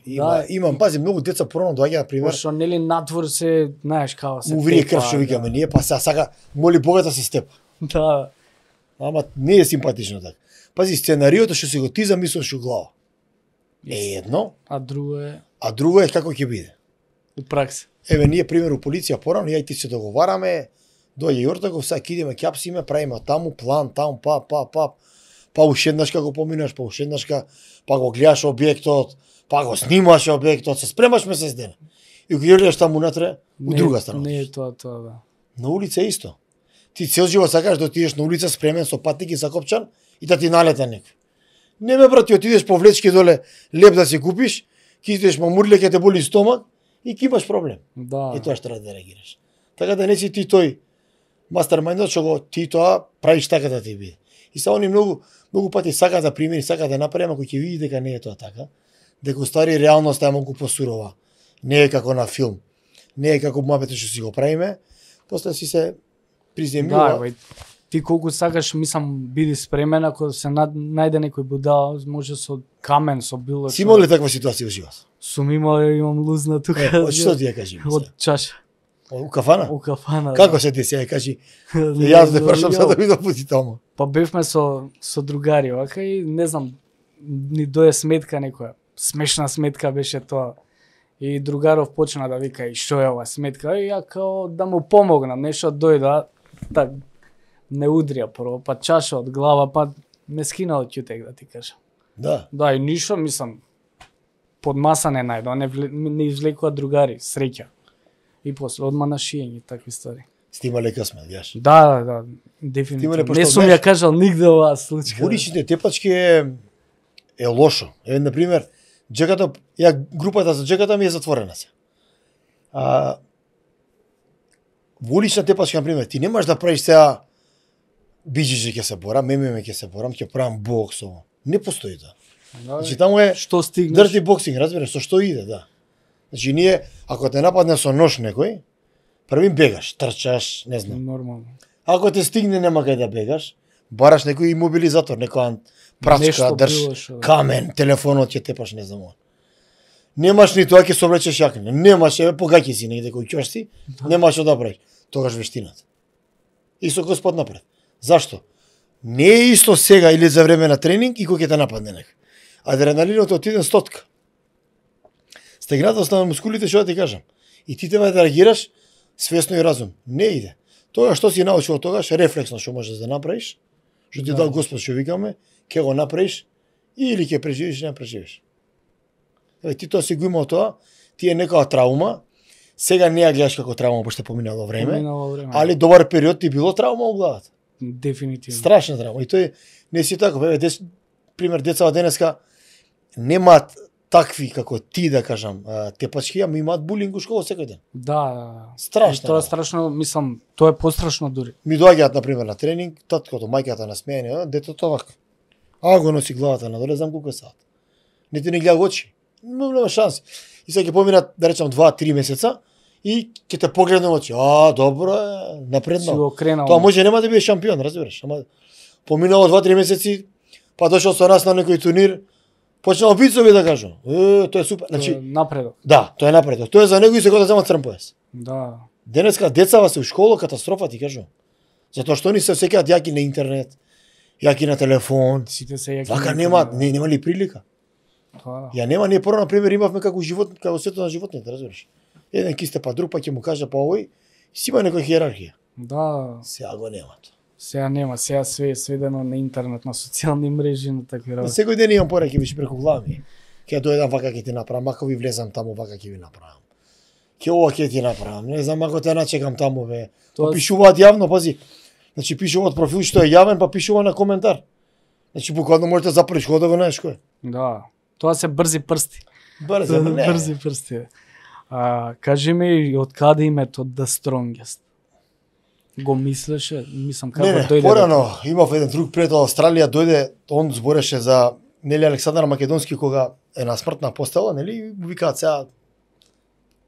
Имам, пази, многу деца порано доаѓаат пример. Пошто нели надвор се, знаеш како се. Му врие крв што викаме ние, па сака моли Бога да се степа. Да. Ама не е симпатично така. Пази, сценариото што си го ти замислуваш у глава. Е едно, а друго е како ќе биде. У пракса. Еве ние пример у полиција порано, ја и ти се договараме, доаѓа Јортаков, сега ќе идеме, ќе апсиме, правиме таму план, таму, па уште еднашка го поминаш, па уште еднашка, па го гледаш објектот, па го снимаш објектот, се спремаш месец дена. И го гледаш таму унатре, у друга страна. Не е тоа, да. На улица е исто. Ти цел живот сакаш да отидеш на улица спремен со патник и закопчан и да ти налета некој. Не ме брат, ти отидеш по влечки доле леп да си купиш, ќе идеш мамурле, ќе те боли стомак и ќе имаш проблем. Да. И тоа што треба да реагираш. Така да не си ти тој мастермајндот што го ти тоа правиш така да ти биде. И са они многу пати сакаат да примери, сакаат да направи, ако ќе види дека не е тоа така, дека стари реалноста е многу посурова. Не е како на филм. Не е како муабетот што си го правиме, после си се приземјува. Да, ти колку сакаш, мислам, биди спремен, ако се најде некој будал, може со камен, со било што. Си имал ли таква ситуација во живот? Сум имал, имам лузна тука. Од што ти ја кажи? Од чаша. У кафана? У кафана. Како се деси, ја кажи? Јас да прашам за да видам пути таму. Па бевме со другари, вака и не знам, ни дое сметка некоја. Смешна сметка беше тоа. И другаров почна да вика и што е ова сметка, и ја као да му помогнам, нешто дојда, так не удрија прво, па чаша од глава, па ме скина од ќутек, да ти кажам. Да. Да, и ништо, мислам, под маса не најдо, не извлекува другари, среќа. И после одма на шиење, такви ствари. Сте имале късмет, јаш? Да, дефинитивно. пошто Не сум ја кажал нигде оваа случка. Уличните тепачки е лошо. Еве, например, джеката, групата за джеката ми е затворена се. Во улична тепачка, например, ти немаш да правиш сега биџиџи ќе се борам, ММА ќе се борам, ќе правам бокс, ово. Не постои тоа. Значи таму е што стигнеш? дирти боксинг, разбираш, со што иде, да. Значи ние, ако те нападне со нож некој, први бегаш, трчаш, не знам. Нормално. Ако те стигне нема кај да бегаш, бараш некој имобилизатор, некоја прачка, Нешто држ, било што, да. камен, телефонот ќе тепаш, не знам. Немаш ни тоа ќе се облечеш јакна. Немаш, еве погаќи си негде кој ќош си, немаш што да правиш. Тогаш вештината. И со Господ напред. Зашто? Не е исто сега или за време на тренинг и кој ќе те нападне некој. Адреналинот отиден стотка. Стегнатост на мускулите, што да ти кажам. И ти треба да реагираш свесно и разум. Не иде. Тоа што си научил од тогаш, рефлексно што можеш да направиш, што ти дал Господ што викаме, ќе го направиш или ќе преживиш или не преживиш. Еве ти тоа си го имал тоа, ти е некоја травма, сега не ја гледаш како травма, пошто поминало време, али добар период ти било травма во главата. Дефинитивно. Страшна травма. И тој не си така, еве пример децата денеска немаат такви како ти, да кажам, тепачки, ама имаат булинг у школа секој ден. Да. Страшно. Тоа е страшно, мислам, тоа е пострашно дури. Ми доаѓаат на пример на тренинг, таткото, мајката на смеење, детето вака. Го носи главата надоле, знам колку е саат. Не ти не гледа очи. Нема шанси. И сега ќе поминат, да речам, 2-3 месеца и ќе те погледне очи. Добро е, напредно. Си го кренал. Тоа може нема да биде шампион, разбираш, ама поминало 2-3 месеци, па дошол со нас на некој турнир, почнал бицови да кажам. Тоа е супер. Значи, напредок. Да, тоа е напредок. Тоа е за него и се го да земат црн пояс. Да. Денеска децава се у школа катастрофа, ти кажам. Затоа што они се сеќаат јаки на интернет, јаки на телефон. Сите се јаки. Вака нема ли прилика? Да. Ја нема, ние прво на пример имавме како живот, како светот на животните, разбираш. Еден кисте па друг, па ќе му каже па овој, си има некоја хиерархија. Да. Сега го нема тоа. Сега нема, сега све е сведено на интернет, на социјални мрежи, на такви работи. Секој ден имам пораки више преку глава ми. Ќе дојдам вака ќе ти направам, ако ви влезам таму вака ќе ви направам. Ќе ова ќе ти направам. Не знам ако те начекам таму бе. Па пишуваат јавно, пази. Значи пишуваат профил што е јавен, па пишува на коментар. Значи буквално можеш да запреш кога да го знаеш кој. Да. Тоа се брзи прсти. Брзи прсти. Кажи ми од каде името The Strongest? Го мислеше, мислам како дојде. Порано имав еден друг пријател Австралија, дојде, он збореше за нели Александар Македонски кога е на смртна постела, нели викаат сега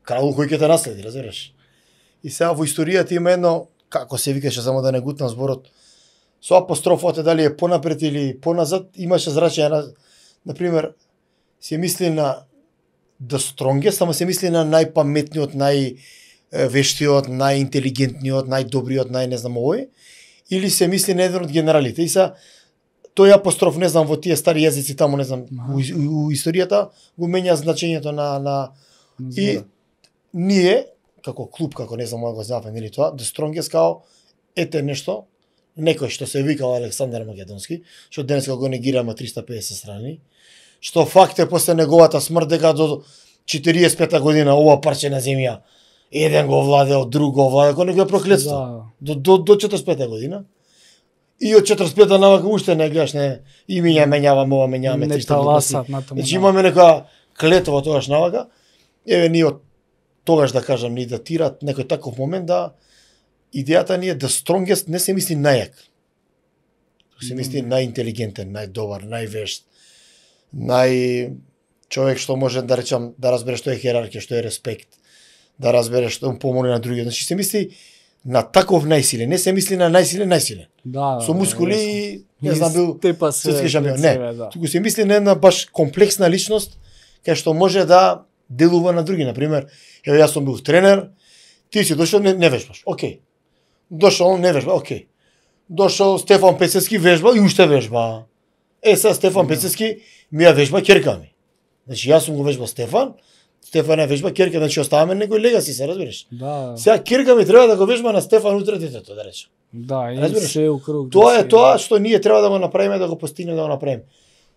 крал кој ќе те наследи, разбираш. И сега во историјата има едно, како се викаше, само да не гутнам зборот, со апострофот дали е понапред или поназад, имаше зрачање на пример се мисли на The Strongest, ама се мисли на најпаметниот, највештиот, најинтелигентниот, најдобриот, не знам овој, или се мисли на еден од генералите. И са тој апостроф, не знам, во тие стари јазици таму, не знам, у историјата го менја значењето на и ние како клуб, како не знам, го знаваме нели тоа, The Strongest као ете нешто некој што се викал Александар Македонски, што денеска го негираме 350 страни, што факт е после неговата смрт дека до 45 година ова парче на земја еден го владеел, друг го владеел, кој него е проклетство. До 45 година. И од 45 навака уште не гледаш, не имиња менјаваме, ова менјаваме 300 глупости. Значи имаме нека клетва тогаш навака. Еве ние од тогаш да кажам ни датират некој таков момент да идејата ни е да strongest не се мисли најак. Се мисли најинтелигентен, најдобар, највешт, човек што може да речам да разбере што е хиерархија, што е респект, да разбере што му помогне на другиот. Значи се мисли на таков најсилен, не се мисли на најсилен. Да, со мускули и не знам бил светски шампион. Не, туку се мисли на една баш комплексна личност кај што може да делува на други. Например, еве јас сум бил тренер, ти си дошол не вежбаш. Океј. Дошол не вежба, океј. Дошол Стефан Пецевски вежба и уште вежба. Сега Стефан Пецевски ми ја вежба ќерка ми. Значи јас сум го вежбал Стефан е вежба ќерка, значи оставаме некој легаси, се разбираш. Да. Сега ќерка ми треба да го вежба на Стефан утре детето, да речем. Да, и се укруг. Тоа е тоа што ние треба да го направиме, да го постигнеме, да го направиме.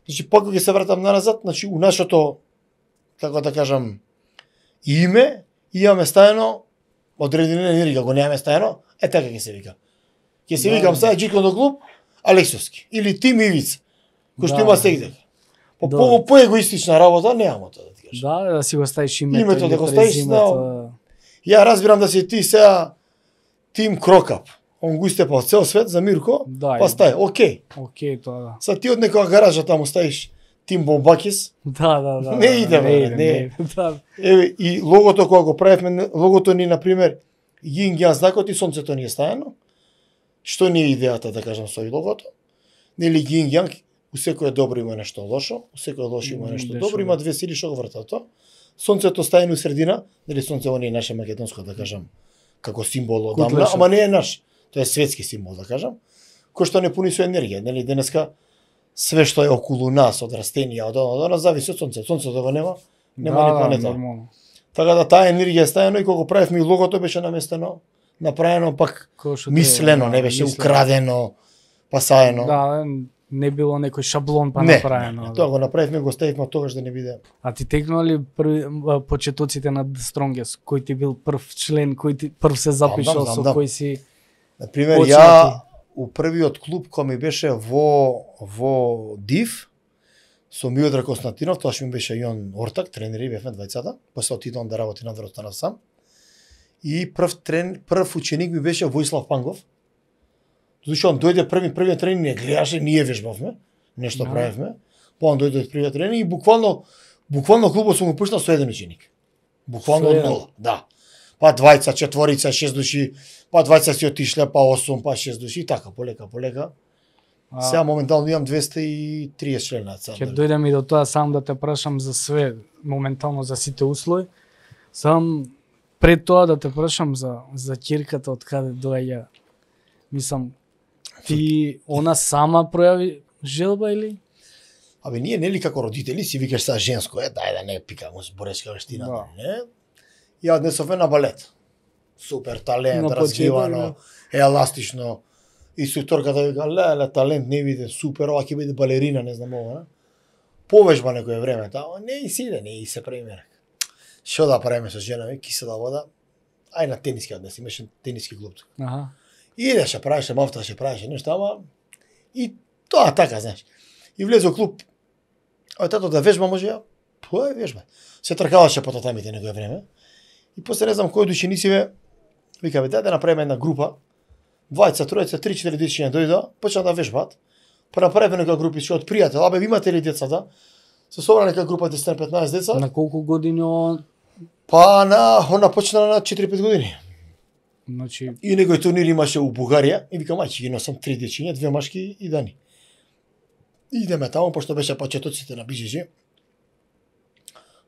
Значи пак кога се вратам назад, значи у нашото, како да кажам, име имаме стаено одредена енергија, го немаме стаено, така ќе се вика. Ќе се викам сега Џикондо клуб Алексовски или Тим Ивица, кој што има сегде. По егоистична работа немамо тоа да ти кажам. Да си го ставиш името. Името да го ставиш, ја разбирам да си ти сега Тим Крокап. Он го истепал цел свет за Мирко, па стај, океј. Океј, тоа да. Са ти од некоја гаража таму ставиш Тим Бомбакис. Да. Не иде, не. Еве и логото кога го правевме, логото ни на пример Јинг Јан знакот и сонцето ни е ставено. Што ни е идејата да кажам со логото? Нели Јинг Јанг, у секој добро има нешто лошо, у секој лошо има нешто добро, има две сили што го вртат тоа. Сонцето стаено у средина, нели сонцето не е наше македонско да кажам, како символ одамна, ама не е наш. Тоа е светски символ да кажам, кој што не пуни со енергија, нели денеска све што е околу нас од растенија, од нас зависи од сонцето. Сонцето го нема ни планета. Така да таа енергија е стаено и кога правевме логото беше наместено, направено пак мислено, не беше украдено, пасаено. Да, не било некој шаблон па направено. Тоа го направивме, го ставивме тогаш да не биде. А ти текнува ли почетоците на The Strongest, кој ти бил прв член, кој ти прв се запишал, со кој си? Например, ја у првиот клуб кој ми беше во Див, со Миодраг Константинов, тоа што ми беше Јон Ортак, тренери бевме двајцата, после отидам да работи надвор, останав сам. И прв ученик ми беше Војслав Пангов. Зашто он дојде првиот тренинг не гледаше, ние вежбавме, нешто правевме. Па он дојде од првиот тренинг и буквално клубот сум го пуштал со еден ученик. Буквално од нула, да. Па двајца, четворица, 6 души, па двајца си отишле, па 8, па 6 души и така, полека. Сега моментално имам 230 члена. Ќе дојдем и до тоа, сам да те прашам за све, моментално за сите услови. Сам пред тоа да те прашам за ќерката од каде доаѓа. Мислам, ти она сама пројави желба или? Абе ние нели како родители си викаш са женско, дај да не пикамо зборешка вештина, не? Ја однесовме на балет. Супер талент, развивано, еластично. Инструкторката вика, леле, талент не биде супер, ова ќе биде балерина, не знам ова, не? Повежба некој време, таа, не и си се премера. Што да правиме со жена ми, кисела вода, ај на тениски однес, имаше тениски клуб. Аха. Идеше, правеше мафта, ще правеше нешто, ама и тоа така, знаеш. И влезе во клуб, тато да вежба може ја, тоа е вежба. Се тркаваше по татамите некој време. И после не знам кој души нисиве, вика бе, да направиме една група, 20, 30, 3-4 дечиња дојдоа, почна да вежбаат. Па направиме нека групи што од пријател, абе имате ли децата? Се собра нека група 10-15 деца. На колку години он? Па она почна на 4-5 години. Значи и некој турнир имаше у Бугарија и викам ајде ги носам 3 дечиња, 2 машки и Дани. Идеме таму пошто беше почетоците на BJJ.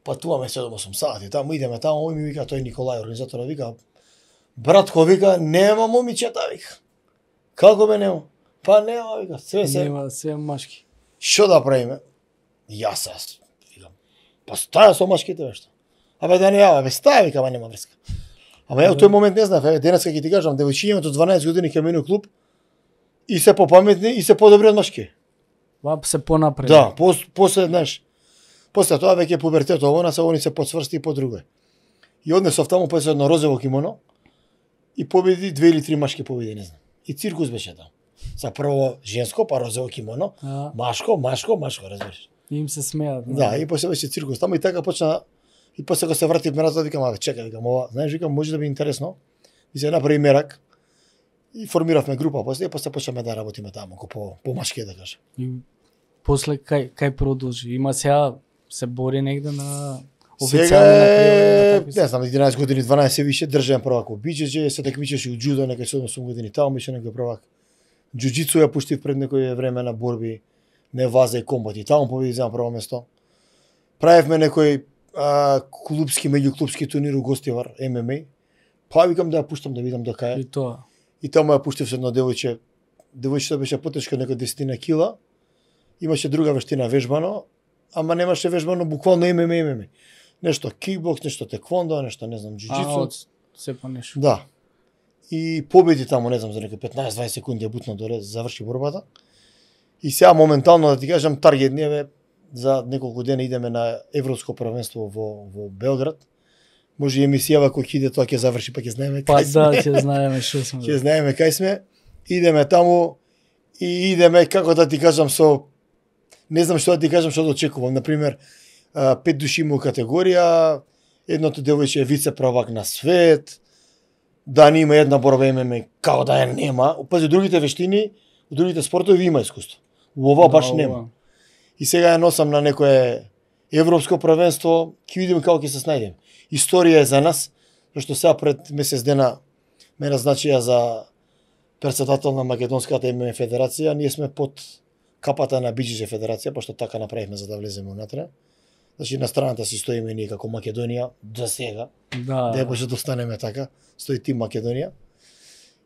Патуваме 7-8 сати, таму идеме таму и ми вика тој Николај организаторот вика братко вика нема момичета вика. Како бе нема? Па нема вика, све машки. Што да правиме? Јас викам. Па стаја со машките бе што. Абе да не јава, бе стаја вика, ама нема врска. Ама ја во тој момент не знаев, денеска ќе ти кажам, девојчињето 12 години ќе мене клуб И се попаметни и се подобри од машки. Вап се понапред. Да, после, знаеш, после тоа веќе пубертет овона се они се подсврсти и подруго. И однесов таму после едно розово кимоно и победи 2 или 3 машки победи, не знам. И циркус беше таму. За прво женско, па розово кимоно, машко, разбираш. И им се смеат. Да, и после беше циркус таму и така почна. И после кога се вратив назад, викам, чекај, викам, ова, знаеш, викам, може да би интересно. И се направи мерак. И формиравме група после, и после почнеме да работиме таму, по машки да кажам. И после кај продолжи? Има сега се бори негде на сега, не знам, 11 години, 12 више, држам првак во биџеџе, се такмичеше у џудо, некај 7 години таму, беше некој првак. Џуџицу ја пуштив пред некој време на борби, не ваза и комбати, таму победи за прво место. Правевме некој клубски, меѓуклубски турнир у Гостивар, ММА. Па викам да ја пуштам да видам до кај. И тоа. И таму ја пуштив со едно девојче. Девојчето беше потешко, некој 10 кила. Имаше друга вештина вежбано, ама немаше вежбано буквално ММА. Нешто кикбокс, нешто теквондо, нешто не знам, џуџицу. Се по нешто. Да. И победи таму, не знам, за некои 15-20 секунди ја бутна доле, заврши борбата. И сега моментално да ти кажам таргет ни е за неколку дена идеме на европско првенство во Белград. Може и емисијава кој ќе иде тоа ќе заврши, па ќе знаеме кај сме. Па да, ќе знаеме што сме. Ќе знаеме кај сме. Идеме таму и идеме, како да ти кажам, не знам што да ти кажам, што да очекувам. Например, 5 души има категорија, едното девојче е вице правак на свет, да не има една борба ММА, како да ја нема. Пази, другите вештини, у другите спортови има искуство. У ова баш нема. И сега ја носам на некое европско првенство, ќе видиме како ќе се снајдеме. Историја е за нас, зашто сега пред месец дена ме назначија за председател на Македонската ММА федерација, ние сме под капата на биџеџе федерација, пошто така направивме за да влеземе унатре. Значи на страната си стоиме ние како Македонија до сега. Да може да останеме така, стои тим Македонија.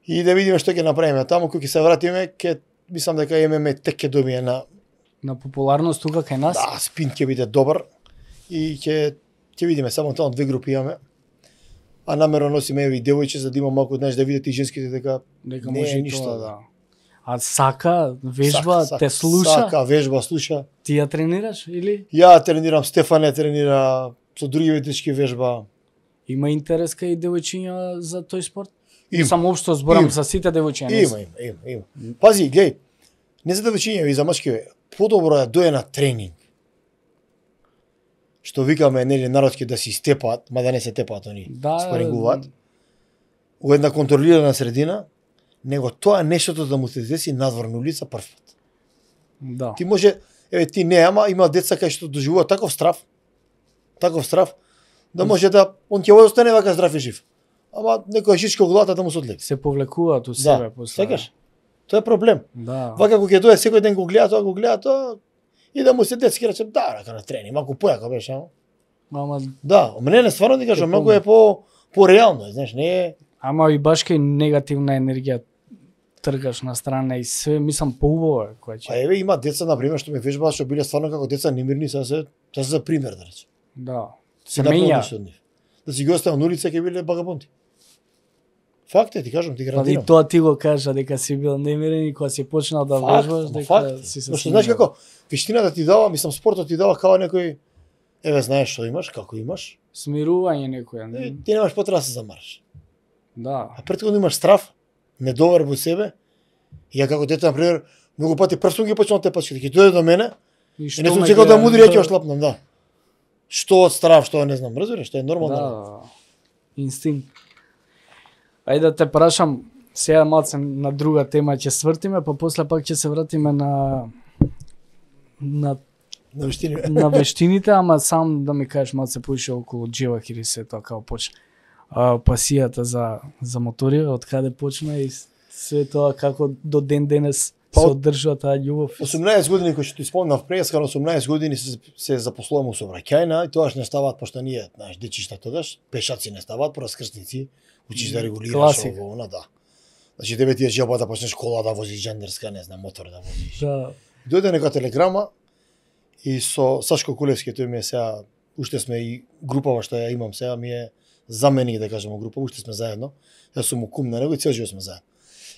И да видиме што ќе направиме таму, кога ќе се вратиме, мислам дека ММА тек ќе добие на популарност тука кај нас. Да, спин ќе биде добар и ќе видиме, само тоа 2 групи имаме. А намерно носиме и девојче за да има малку, знаеш, да видите и женските дека може и ништо, да. А сака, вежба, те слуша? Сака, вежба, слуша. Ти ја тренираш или? Ја тренирам, Стефане тренира, со други ветички вежба. Има интерес кај девојчиња за тој спорт? Има. Само општо зборам за сите девојчиња. Има. Пази, глеј, не за девојчиња и за мачки, подобро е дое на тренинг. Што викаме, нели, народски да си степаат, мада не се тепаат они, спарингуваат, у една контролирана средина, него тоа нештото да му се деси надвор на улица прв пат. Да. Ти може, ти не, ама има деца кај што доживуваат таков страв, да може да, он ќе остане вака здрав и жив. Ама некоја шишка главата да му се одлеви. Се повлекуваат у себе после. Секаш? Тоа е проблем. Да. Вака кога ќе дое секој ден го гледа тоа, и да му се детски рече, да, рака на трени, малку појако беше, ама. Да, не, стварно ти кажам, многу е по-реално, знаеш, не е. Ама и баш кај негативна енергија тргаш на страна и све, мислам поубаво е кој че. А има деца на пример што ме вежбаат што биле стварно како деца немирни, сега се за пример да рече. Да. Се менја. Да си ги оставам на улица ќе биле багабонти. Факт е, ти кажам, ти гарантирам. И тоа ти го кажа дека си бил немирен и кога си почнал да вежбаш дека си се. Знаеш како вештината ти дава, мислам спортот ти дава као некој знаеш што имаш, како имаш. Смирување некоја. Ти немаш потреба да се замараш. Да. А претходно имаш страв, недовер во себе. И ја како дете, например, многу пати прв сум ги почнал те пачки, ќе дојде до мене. И не сум чекал да мудри, ја ќе ошлапнам, да. Што од страв, што не знам, разбираш, што е нормално. Да. Инстинкт. Ајде да те прашам, сега малце на друга тема ќе свртиме, па после пак ќе се вратиме на вештините, ама сам да ми кажеш малце поише околу Джевахир и се тоа како почна. Пасијата за мотори, од каде почна и све тоа како до ден денес се одржува таа љубов. 18 години кои што ти спомнав преска, 18 години се запослувам у сообраќајна и тоаш не ставаат пошто ние, знаеш, дечишта тогаш, пешаци не ставаат, раскршници, учиш да регулираш ово, да. Значи тебе ти е желба да почнеш кола да возиш џендерска, не знам, мотор да возиш. Да. Дојде нека телеграма и со Сашко Кулевски, тој ми е сега, уште сме и групава што ја имам сега, ми е заменик да кажеме група, уште сме заедно. Јас сум кум на него и цел живот сме заедно.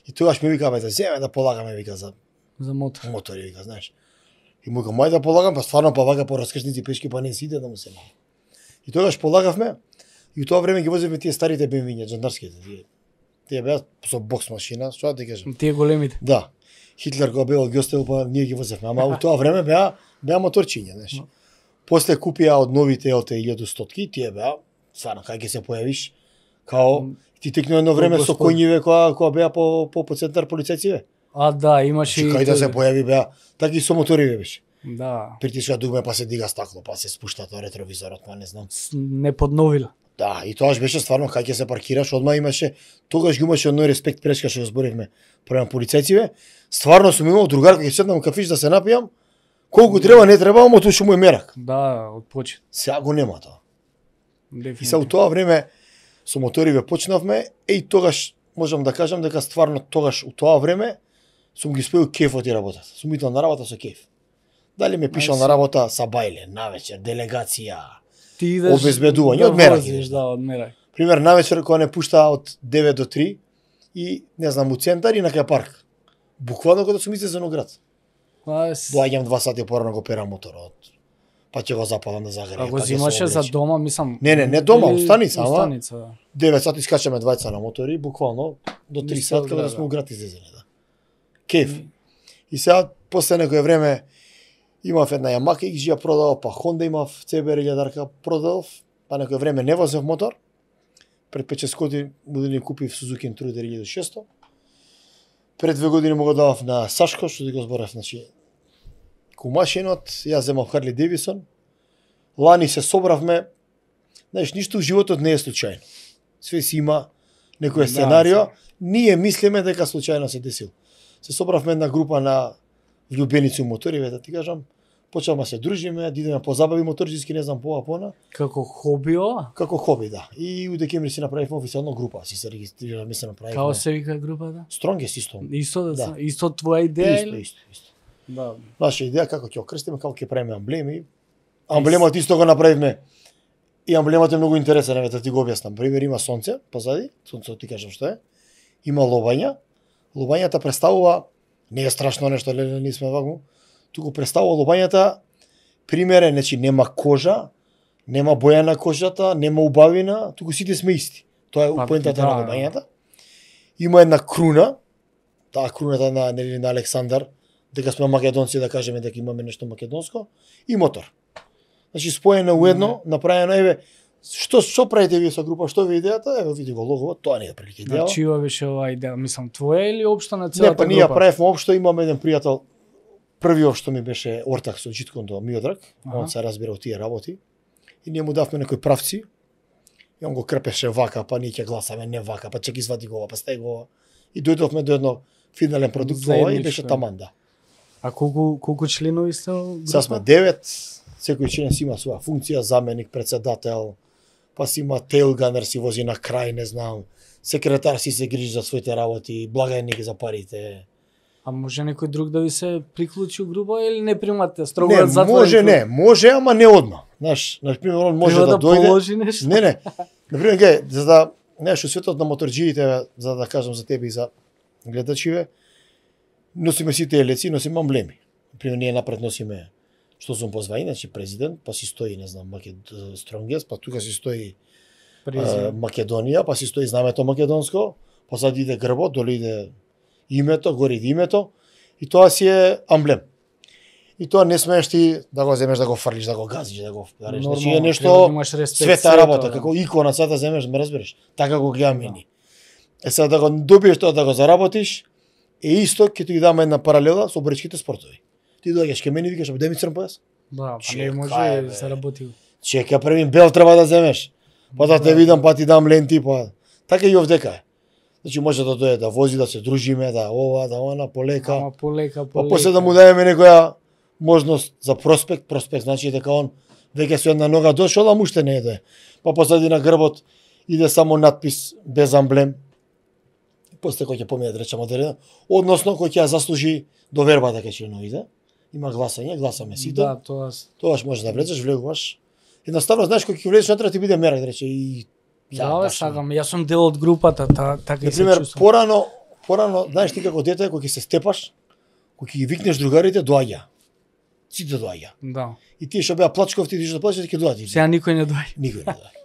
И тогаш ми вика, бе, земе да полагаме, вика, за мотор. мотори, вика, знаеш. И му викам, мај да полагам, па стварно па вака по раскршници пешки, па не си иде да му се мал. И тогаш полагавме, и у тоа време ги возевме тие старите BMW, джандарските. Тие беа со бокс машина, што да ти кажам. Тие големите. Да. Хитлер кога беа ги оставил, па ние ги возевме, ама у тоа време беа моторчиња, знаеш. После купија од новите LT 1100-ки, тие беа, стварно, кај ќе се појавиш, као ти текно едно време со коњиве кога беа по центар полицајци. А, да, имаше и... Кај да се појави беа, така и со мотори беше. Да. Притиска дугме, па се дига стакло, па се спушта тоа ретровизорот, па не знам. Не подновила. Да, и тоаш беше стварно кај ќе се паркираш, одма имаше, тогаш ги имаше одној респект прешка што го зборивме према полицајците. Стварно сум имал другар кога ќе седнам кафиш да се напијам, колку треба не треба, ама тоа што му е мерак. Да, од почет. Сега го нема тоа. Дефинитивно. И сега у тоа време со моториве почнавме, и тогаш можам да кажам дека стварно тогаш у тоа време сум ги споил кефот и работата. Сум итал на работа со кеф. Дали ме пишал на работа са бајле, навечер, делегација, ти идеш обезбедување, од мерак. Да, од мерак. Пример, навечер кога не пушта од 9 до 3 и, не знам, у центар и на кај парк. Буквално кога сум излезен од град. Доаѓам 2 сати порано го перам моторот. Па ќе го запалам да загрее. А го зимаше за дома, мислам. Не дома, у станица, ама. Станица, да. 9 сати скачаме двајца на мотори, буквално до 3 сати кога сме у град излезени, да. Кеф. И сега после некое време имав една Yamaha X, ја продав, па Honda имав CBR 1000 продав, па некое време не возев мотор. Пред 5-6 години купив Suzuki Intruder 1600. Пред 2 години му го давав на Сашко, што ти го зборев, значи кумашинот, јас земав Harley Davidson. Лани се собравме. Знаеш, ништо во животот не е случајно. Све си има некој сценарио. Ние мислиме дека случајно се десил. Се собравме една група на влюбеници у моториве, да ти кажам. Почнавме се дружиме, да идеме по забави моторџиски, не знам пона. Како хоби ова? Како хоби, да. И у декември си направивме официјално група, си се регистрираме, се направивме. Као се вика групата? Strongest исто. Исто Да. Исто твоја идеја? Исто. Да. Наша идеја како ќе окрстиме, како ќе правиме амблеми. Амблемот исто го направивме. И амблемот е многу интересен, еве да ти го објаснам. Пример има сонце позади, сонцето ти кажам што е. Има лобања. Лобањата представува, не е страшно нешто, не сме вакво. Туку представува лобањата, пример е, значи нема кожа, нема боја на кожата, нема убавина, туку сите сме исти. Тоа е поентата на лобањата. Има една круна, таа круната на Александар, дека сме македонци, да кажеме дека имаме нешто македонско, и мотор. Значи споено уедно, направено, еве, што правите вие со група, што ви идејата? Еве види го логот, тоа не е прилика идеја. Значи ова беше оваа идеја, мислам твоја или општо на целата група? Не, па ние правевме општо, имаме еден пријател, првиот што ми беше ортак со Джиткондо Миодраг, он се разбира од тие работи, и ние му давме некои правци, и он го крпеше вака, па ние ќе гласаме не вака, па чек извади го ова, па стај го ова. И дојдовме до едно финален продукт ова и беше таман, да. А колку членови сте група? Сега сме 9, секој член си има своја функција, заменик, председател, па си има тейлганер, си вози на крај, не знам, секретар си се грижи за своите работи, благајник за парите. А може некој друг да ви се приклучи у група или не примате строго не, затворен? Може, ама не одма. Знаеш, на пример он може да дојде. Положи нешто? Не. На пример, гај, за да, знаеш, светот на моторџиите, за да кажам за тебе и за гледачиве, носиме сите елеци, носиме амблеми. На пример, ние напред носиме што сум позвај, значи президент, па си стои, не знам, Strongest, па тука си стои Македонија, па си стои знамето македонско, позади иде грбот, доле иде името, горе иде името, и тоа си е амблем. И тоа не смееш ти да го земеш, да го фрлиш, да го газиш, да го вариш. Значи е нешто света работа, како икона цата земеш, ме разбереш. Така го гледаме ни. Сега да го добиеш тоа, да го заработиш, е исто ќе ти ги даме една паралела со боричките спортови. Ти доаѓаш кај мене и викаш, "Дај ми црн појас." Да, па не може да се работи. Чека, првин бел треба да земеш. Па да те видам, па ти дам ленти, па. Така и овдека е. Значи може да дојде да вози, да се дружиме, да ова, да она, полека. Ама полека. Па после да му даеме некоја можност за проспект значи дека он веќе со една нога дошол, а уште не е. Па позади на грбот иде само надпис без амблем. После кој ќе помине да речеме одредено, односно кој ќе ја заслужи довербата кај членовите. Има гласање, гласаме сите. Да, Тогаш можеш да влезеш, влегуваш. Едноставно знаеш кој ќе влезеш натре ти биде мерак, да рече и да, сакам, јас сум дел од групата, така и се чувствувам. Порано порано, знаеш ти како дете, кога ќе се степаш, кога ќе ги викнеш другарите, доаѓа. Сите доаѓа. Да. И тие што беа плачковти, ти што плачеш, ќе доаѓа. Сега никој не доаѓа. Никој не доаѓа.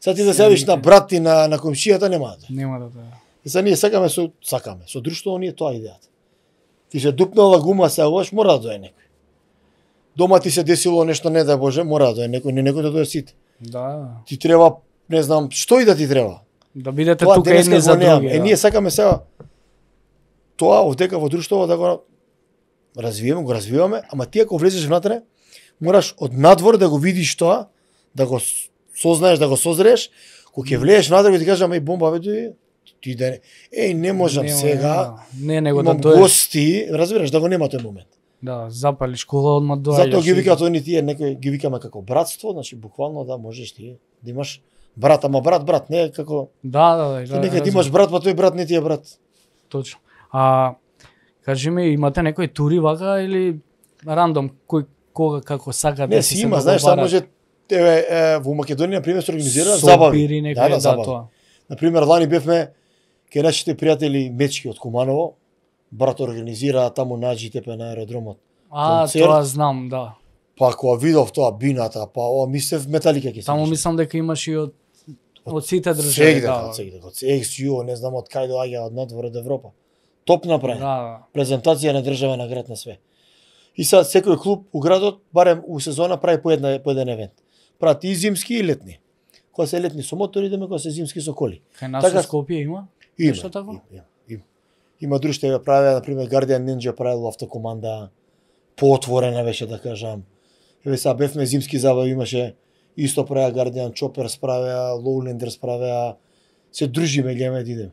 Сега ти да се јавиш на брат и на комшијата нема да. Нема да доаѓа. И сега ние сакаме со друштво, ние тоа идејата. Ти се дупнала гума, се лош, мора да доаѓа некој. Дома ти се десило нешто, не дај Боже, мора да доаѓа некој, не некој да доаѓа сите. Да. Ти треба, не знам, што и да ти треба. Да бидете Тоа тука денеска едни за го немам. други. Ние сакаме сега тоа овдека во друштво да го развиваме, ама ти ако влезеш внатре, мораш од надвор да го видиш тоа, да го сознаеш, да го созрееш, кога ќе влезеш внатре и ти кажам, еј бомба бе, ти да не можам сега. Не, него да имам доеш. гости, разбираш, да го нема тој момент. Да, запалиш кола одма доаѓаш. Затоа ги викаат они тие, некои ги викаме како братство, значи буквално да можеш ти да имаш брат, ама брат, не е како Да. ти нека ти имаш брат, па тој брат не ти е брат. Точно. Кажи ми, имате некои тури вака или рандом кој кога како сакате? Не, си има, знаеш, само може во Македонија на пример се организира забави. Да, забави. тоа. На пример лани бевме кај нашите пријатели Мечки од Куманово, брат организира таму на џитепе на аеродромот. концерт. Тоа знам, да. Па кога видов тоа бината, па мислев Металика ќе се. Таму мислам дека имаш и од сите држави. Сегде, од XU, не знам од кај доаѓа од надвор од Европа. Топ направен. Да. Презентација на држава на град на све. И сега секој клуб у градот барем у сезона прави по еден евент. Прават и зимски и летни. Кога се летни со мотори, идеме, кога се зимски со коли. Кај нас во Скопје има? Има. Тако? Има друштва правеа, на пример Guardian Ninja правил автокоманда, поотворена беше да кажам. Еве сега бевме зимски забави, имаше исто правеа Guardian Choppers правеа, Lowlanders правеа, се дружиме, гледаме да идеме.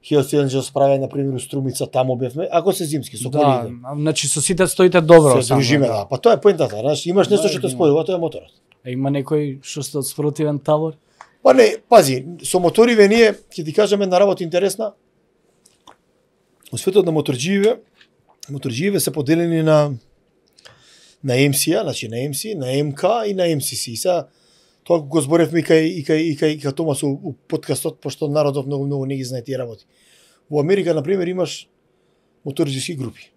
Hells Angels правеа на пример у Струмица, таму бевме, ако се зимски со коли идеме. Да, значи со сите стоите добро. Се дружиме, да. Па тоа е поентата, знаеш, имаш нешто што те спојува, тоа е моторот. Има некој што сте од спротивен табор? Па не, пази, со моториве ние, ќе ти кажам една работа интересна. Во светот на моторџиеве се поделени на MC-а, значи на MC, на МК и на MCC. И сега тоа го зборевме и кај Томас у подкастот, пошто народот многу не ги знае тие работи. Во Америка на пример имаш моторџиски групи.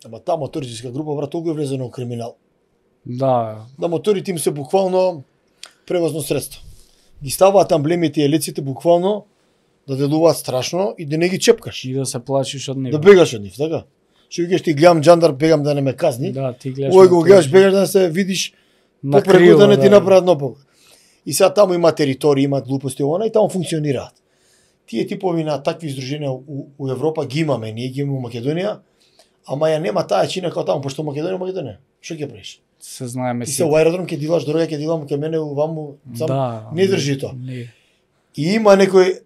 Ама таа моторџиска група брат толку е влезена во криминал. Да. Да моторите им се буквално превозно средство. Ги ставаат амблемите и елиците буквално да делуваат страшно и да не ги чепкаш. И да се плашиш од него. Да бегаш од нив, така? Што викаш ти гледам джандар, бегам да не ме казни. Да, ти гледаш. Ој го гледаш, бегаш да се видиш попреку да не ти направат нопог. И сега таму има територии, имаат глупости она и таму функционираат. Тие типови на такви издруженија у Европа ги имаме, ние ги имаме во Македонија, ама ја нема таа чина како таму, пошто Македонија. Што ќе правиш? Се знаеме си. Ти се во аеродром ќе дилаш, дорога ќе дилам ке мене ваму, сам не држи тоа. И има некој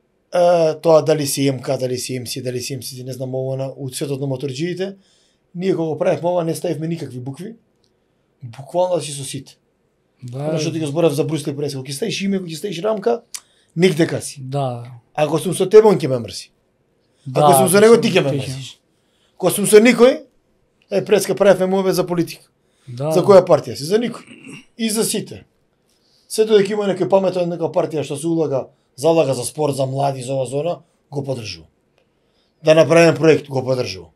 тоа дали си МК, дали си МС, дали си МС, не знам ово на у светот на моторџиите, ние кога го правевме ова не ставивме никакви букви. Буквално си со сите. Да. Што ти го зборев за Брусли прес, кога ќе ставиш име, кога ќе ставиш рамка, нигде си. Да. Ако сум со тебе, он ќе ме мрси. Ако сум со него, ти ќе ме мрсиш. Кога сум со никој, преска правевме мове за политика. Да. За која партија си? За никој. И за сите. Сето дека има некој паметен нека партија што се залага за спорт, за млади, за ова зона, го поддржувам. Да направиме проект, го поддржувам.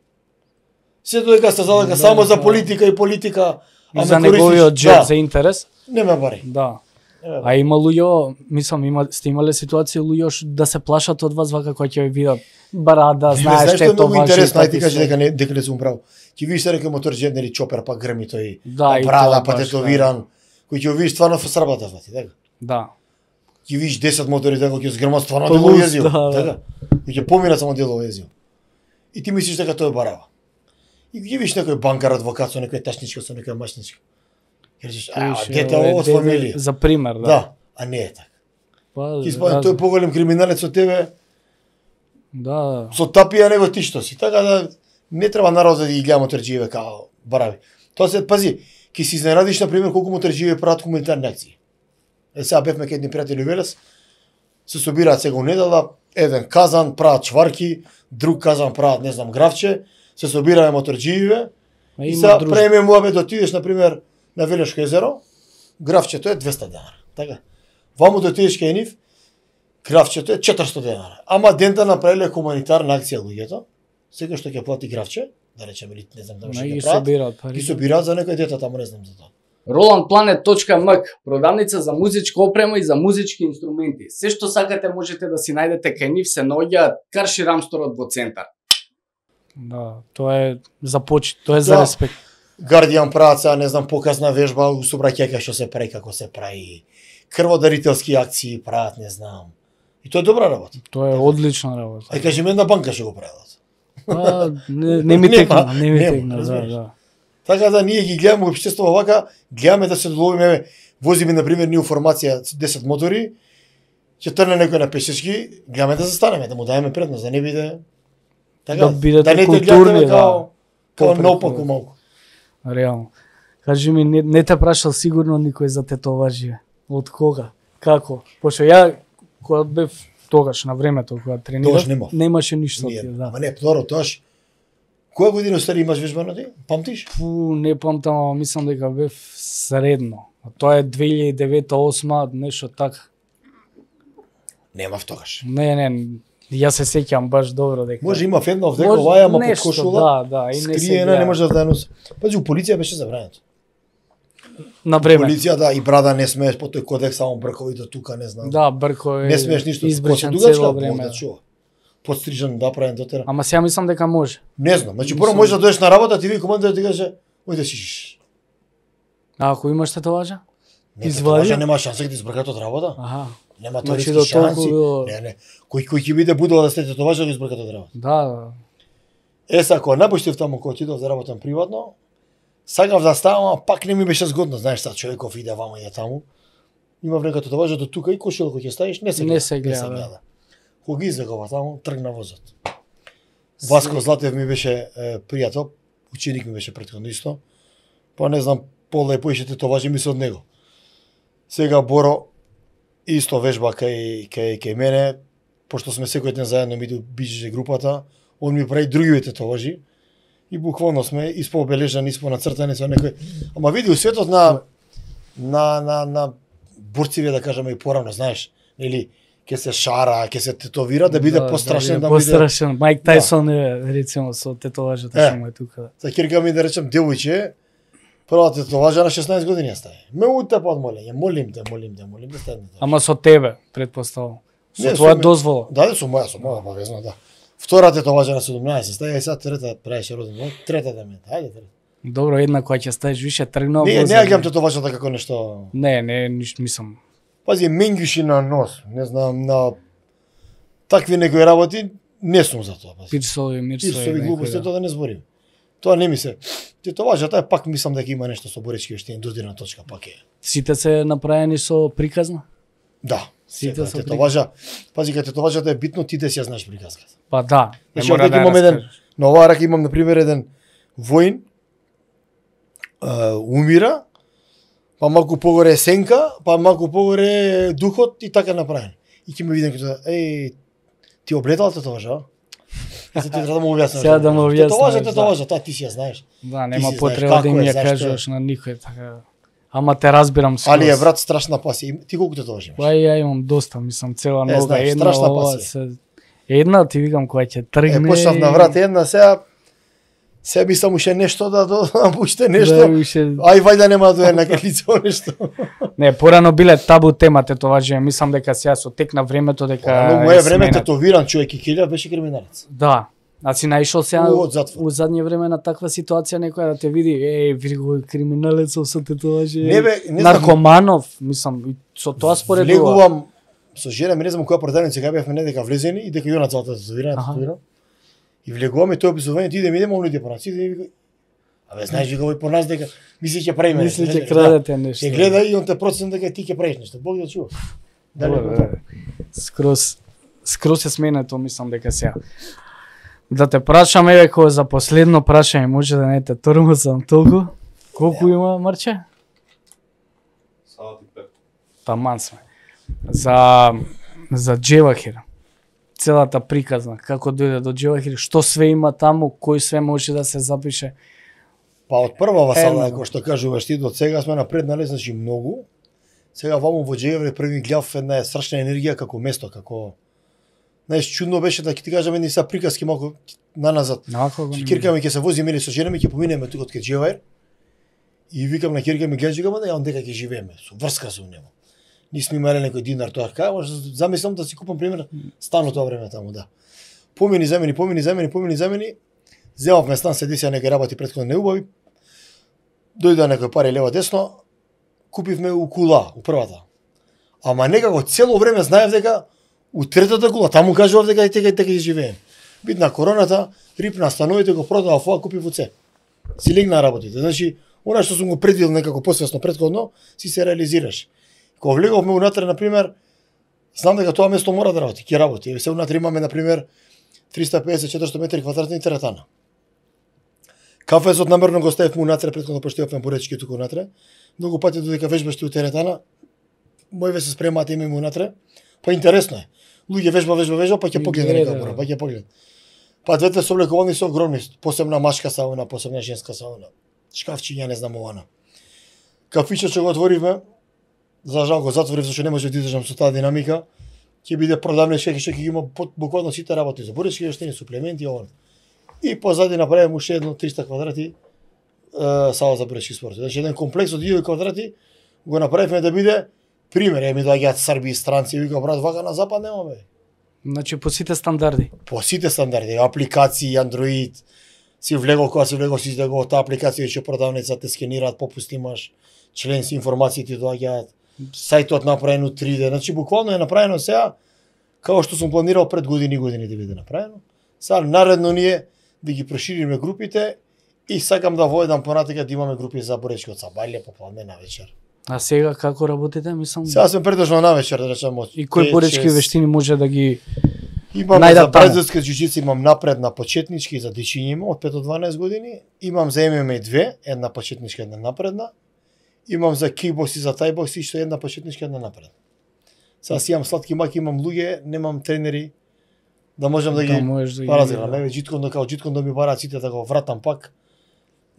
Сето дека се залага само за политика и политика, а за неговиот джеб, за интерес. Не ме бари. Да. А има луѓе, мислам, сте имале ситуација луѓе да се плашат од вас вака кога ќе ви видат барада, знаеш што е тоа. Многу интересно, ај ти кажи дека не сум прав. Ќе видиш се река мотор или чопер, па грми тој, брада, па тетовиран, кој ќе видиш стварно сработа фати, така? Да. Ќе видиш 10 мотори дека ќе згрмат стварно дело језио, така? Ќе поминат само дело језио. И ти мислиш дека тоа е барава. И ќе видиш некој банкар, адвокат со некој ташничка, со некоја машничка. Кажеш, дете од фамилија. За пример, да. Да, а не е така. Ти спомнам, тој поголем криминалец од тебе. Да. Со тапија него ти што си. Така да не треба народот да ги гледа моторџиеве као барави. Тоа се пази, ќе се изненадиш на пример колку моторџиеве прават хуманитарни акции. Сега бевме кај едни пријатели Велес, се собираат сега недела, еден казан прават чварки, друг казан прават не знам гравче, се собираме моторџиеве. И сега преме муабе да отидеш на пример на Велешко езеро, гравчето е 200 денара. Така. Ваму да отидеш кај нив, гравчето е 400 денара. Ама дента направиле хуманитарна акција луѓето. Секој што ќе плати гравче, да речеме, или не знам, да Ги ќе прават, собираат пари. ги собираат за некој дете таму, не знам за тоа. RolandPlanet.mk, продавница за музичка опрема и за музички инструменти. Се што сакате можете да си најдете кај нив, се наоѓаат Карши Рамсторот во центар. Да, тоа е за почит, тоа е за Да. респект. Гардијан прават сега, не знам, показна вежба у собраќајка што се прави, како се прави. Крводарителски акции прават, не знам. И тоа е добра работа. Тоа е одлична работа. Ај кажи ми една банка што го прават. Не ми текна, не ми нема, текна, да, разбираш. да. Така да ние ги гледаме општество вака, гледаме да се доловиме, возиме на пример ние формација 10 мотори, ќе трне некој на пешешки, гледаме да застанеме, да му даеме предност, да не биде така, Да бидете не те културни, гледаме да. као Попред, наопаку малку. Реално. Кажи ми, не те прашал сигурно никој за тетоважи. Од кога? Како? Пошто ја кога бев тогаш на времето кога тренирав, Тогаш немав. немаше ништо Ние, ти, да. ама не, второ, тоаш, која година стари имаш вежбано ти? Памтиш? Фу, не памтам, ама мислам дека бев средно. А тоа е 2009-2008, нешто така. Немав тогаш. Не, јас се сеќам баш добро дека. Може имав една овдека Може, оваја, ама под нешто, кошула, да, и не се скриена, гледа. не може да носи. Пази, у полиција беше забрането. На време. Полиција, да, и брада не смееш, по тој кодекс, само брковите тука, не знам. Да, брко е. Не смееш ништо. Избричан После цело дугачка, време. да чува. Подстрижен, да правен дотера. Ама сега мислам дека може. Не знам, значи прво можеш да дојдеш на работа, ти ви командир ти каже, ој да сишиш. А ако имаш тетоважа? Не, Извади? тоа нема шанса да ти избркат од работа. Аха. Нема Значи теоретски до толку шанси. било- Не. Кој ќе биде будала да сте тетоважа да избркат од работа. Да. Са, кога напуштив таму кога отидов да работам приватно, сакав да ставам, а пак не ми беше згодно, знаеш, сад човеков иде вамо иде таму. Има време като важа до тука и кошила кој ќе ставиш, не се гледа. Не се гледа, да. Кога ги извегава таму, тргна возот. Васко Златев ми беше пријател, ученик ми беше претходно исто. Па не знам, полепо иште тетоважи ми се од него. Сега Боро исто вежба кај мене, пошто сме секој ден заедно ми биџеше групата, он ми прави други тетоважи и буквално сме испообележани, испонацртани со некој. Ама види у светот на борциве да кажеме и порано, знаеш, или ќе се шара, ќе се тетовира да биде пострашен, да биде. пострашен. Майк Тајсон е рецимо со тетоважата што му е тука. Са кирка ми да речем девојче, прва тетоважа на 16 години ја стави. Ме утепа од молење, молим те да стане. Ама со тебе, предпоставам. Со Не, твоја со ме- дозвола. Да, со моја обавезно, да. Втора тетоважа на 17 стави, и сега трета правеше роден ден, трета да ме, ајде трета. Добро, една која ќе ставиш више тргнува. Не ја гледам тетоважата како нешто. Не, ништо мислам. Пази, менгиши на нос, не знам, на такви некои работи, не сум за тоа. Пази. Пирсови, мирсови. Пирсови некој, глупости, да. тоа да не зборим. Тоа не ми се. Тетоважата е пак мислам дека има нешто со боречки вештини, додирна точка пак е. Сите се направени со приказна? Да, Сите сите со тетоважа. Пази, кај тетоважата е битно ти да си ја знаеш приказката. Па да. Не Значи, мора овде да ја имам еден, раскажеш. на оваа рака имам, например, еден воин, умира, па малку погоре е сенка, па малку погоре е духот и така направен. И ќе ме видам като, ти облетал тетоважа? И се ти треба да му објасниш. Сега да му објасниш, Тетоважа, тоа ти си ја знаеш. Да, Ти нема си знаеш потреба да како им е, ја зашто е. кажеш на никој така. Ама те разбирам скроз. Али е брат страшна пасија. Ти колку тетоважи имаш? Па и ја имам доста, мислам, цела нога, знаеш, една страшна ова пасија. се... Една ти викам која ќе тргне. Почнав на врат една, сега мислам уште нешто да уште нешто. Да, уште... Ај вајда нема да е на лицо нешто. Не, порано биле табу тема тетоважи, мислам дека сега со тек на времето дека Но е моје време сменат. тетовиран човек и килја беше криминалец. Да. А си наишол сега Од затвор. у задње време на таква ситуација некоја да те види, види го криминалецов со тетоважи. Не бе, не знам. наркоманов, мислам, и со тоа споредува. Влегувам со жена, ми не знам која продавница кај бевме, не дека влезени и дека јона целата тетовирана. И влегуваме тој обзовање, ти идеме луѓе по нас, иде и вика, абе знаеш вика овој по нас дека мисли ќе прави Мисли ќе крадете нешто. Ќе гледа и он те процен дека ти ќе правиш нешто. Бог да чува. Дали го тоа? Скроз е сменето, мислам дека сега. Да те прашам, еве кој за последно прашање, може да не те тормозам толку. Колку има, Марче? Саат и 5. Таман сме. За Джевахир. Целата приказна, како дојде до Джевахир, што све има таму, кој све може да се запише. Па од првава сала, Едно. кој што кажуваш ти, до сега сме напреднале, значи многу. Сега ваму во Джевахир први гледав една страшна енергија како место, како Знаеш, чудно беше да ќе ти кажам едни са приказки малку наназад. Ќе кирка ми ќе се возиме или со жена ми ќе поминеме тука од Кеџевајр. И викам на кирка ми гледа, да ја дека ќе живееме. Со врска со него. Ни сме имале некој динар тоа. Кажа, замислам да си купам пример стан тоа време таму, да. Помини замени. Земавме стан, се десија некои работи претходно неубави. Дојде некој пари лево десно. Купивме у кула, у првата. Ама некако цело време знаев дека у третата кула таму кажував дека ќе живеем. Битна короната, рипна становите, го продава фоа, купив уце. Си легна работите. Значи, она што сум го предвидел некако посвесно претходно, си се реализираш. Кога влеговме унатре, например, знам дека тоа место мора да работи, ќе работи. Се унатре имаме, например, 350-400 метри квадратни теретана. Кафезот намерно го ставивме унатре, претходно поштевавме поречки тука унатре. Многу пати додека вежбаш у теретана, мојве се спремаат имаме унатре. Па интересно е. Луѓе вежба, па ќе погледа некако, па ќе погледа. Па двете соблековани се огромни, посебна машка сауна, посебна женска сауна. Шкафчиња, не знам ована. Кафичот што го отворивме, за жал го затворив, зашто не може да издржам со таа динамика. Ќе биде продавничка што ќе има буквално сите работи за буречки, вештини, суплементи, ова. И позади направиме уште едно 300 квадрати сала за буречки спорт. Значи еден комплекс од 1000 квадрати го направивме да биде пример. Ми доаѓаат срби и странци и вика брат, вака на запад немаме. Значи по сите стандарди. По сите стандарди, апликации, Android, си влегол кога си влегол си излегол таа апликација што продавница те скенираат, попуст имаш, членски информации ти доаѓаат, сајтот направен у 3D, значи буквално е направено сега како што сум планирал пред години да биде направено. Сега наредно ние да ги прошириме групите и сакам да воедам понатака да имаме групи за боречки од сабајле попладне на вечер. А сега како работите, мислам? Сега сме предежно на вечер, да речам. И кои боречки вештини може да ги имам за бразилска џуџица, имам напредна почетнички за дечиња има од 5 до 12 години, имам за ММА 2, една почетничка, една напредна. Имам за кикбокс и за тајбокс и што една почетничка, една напредна. Сега си имам сладки маки, имам луѓе, немам тренери да можам да ги разгледам. Еве џиткон да ми бараат сите да го вратам пак.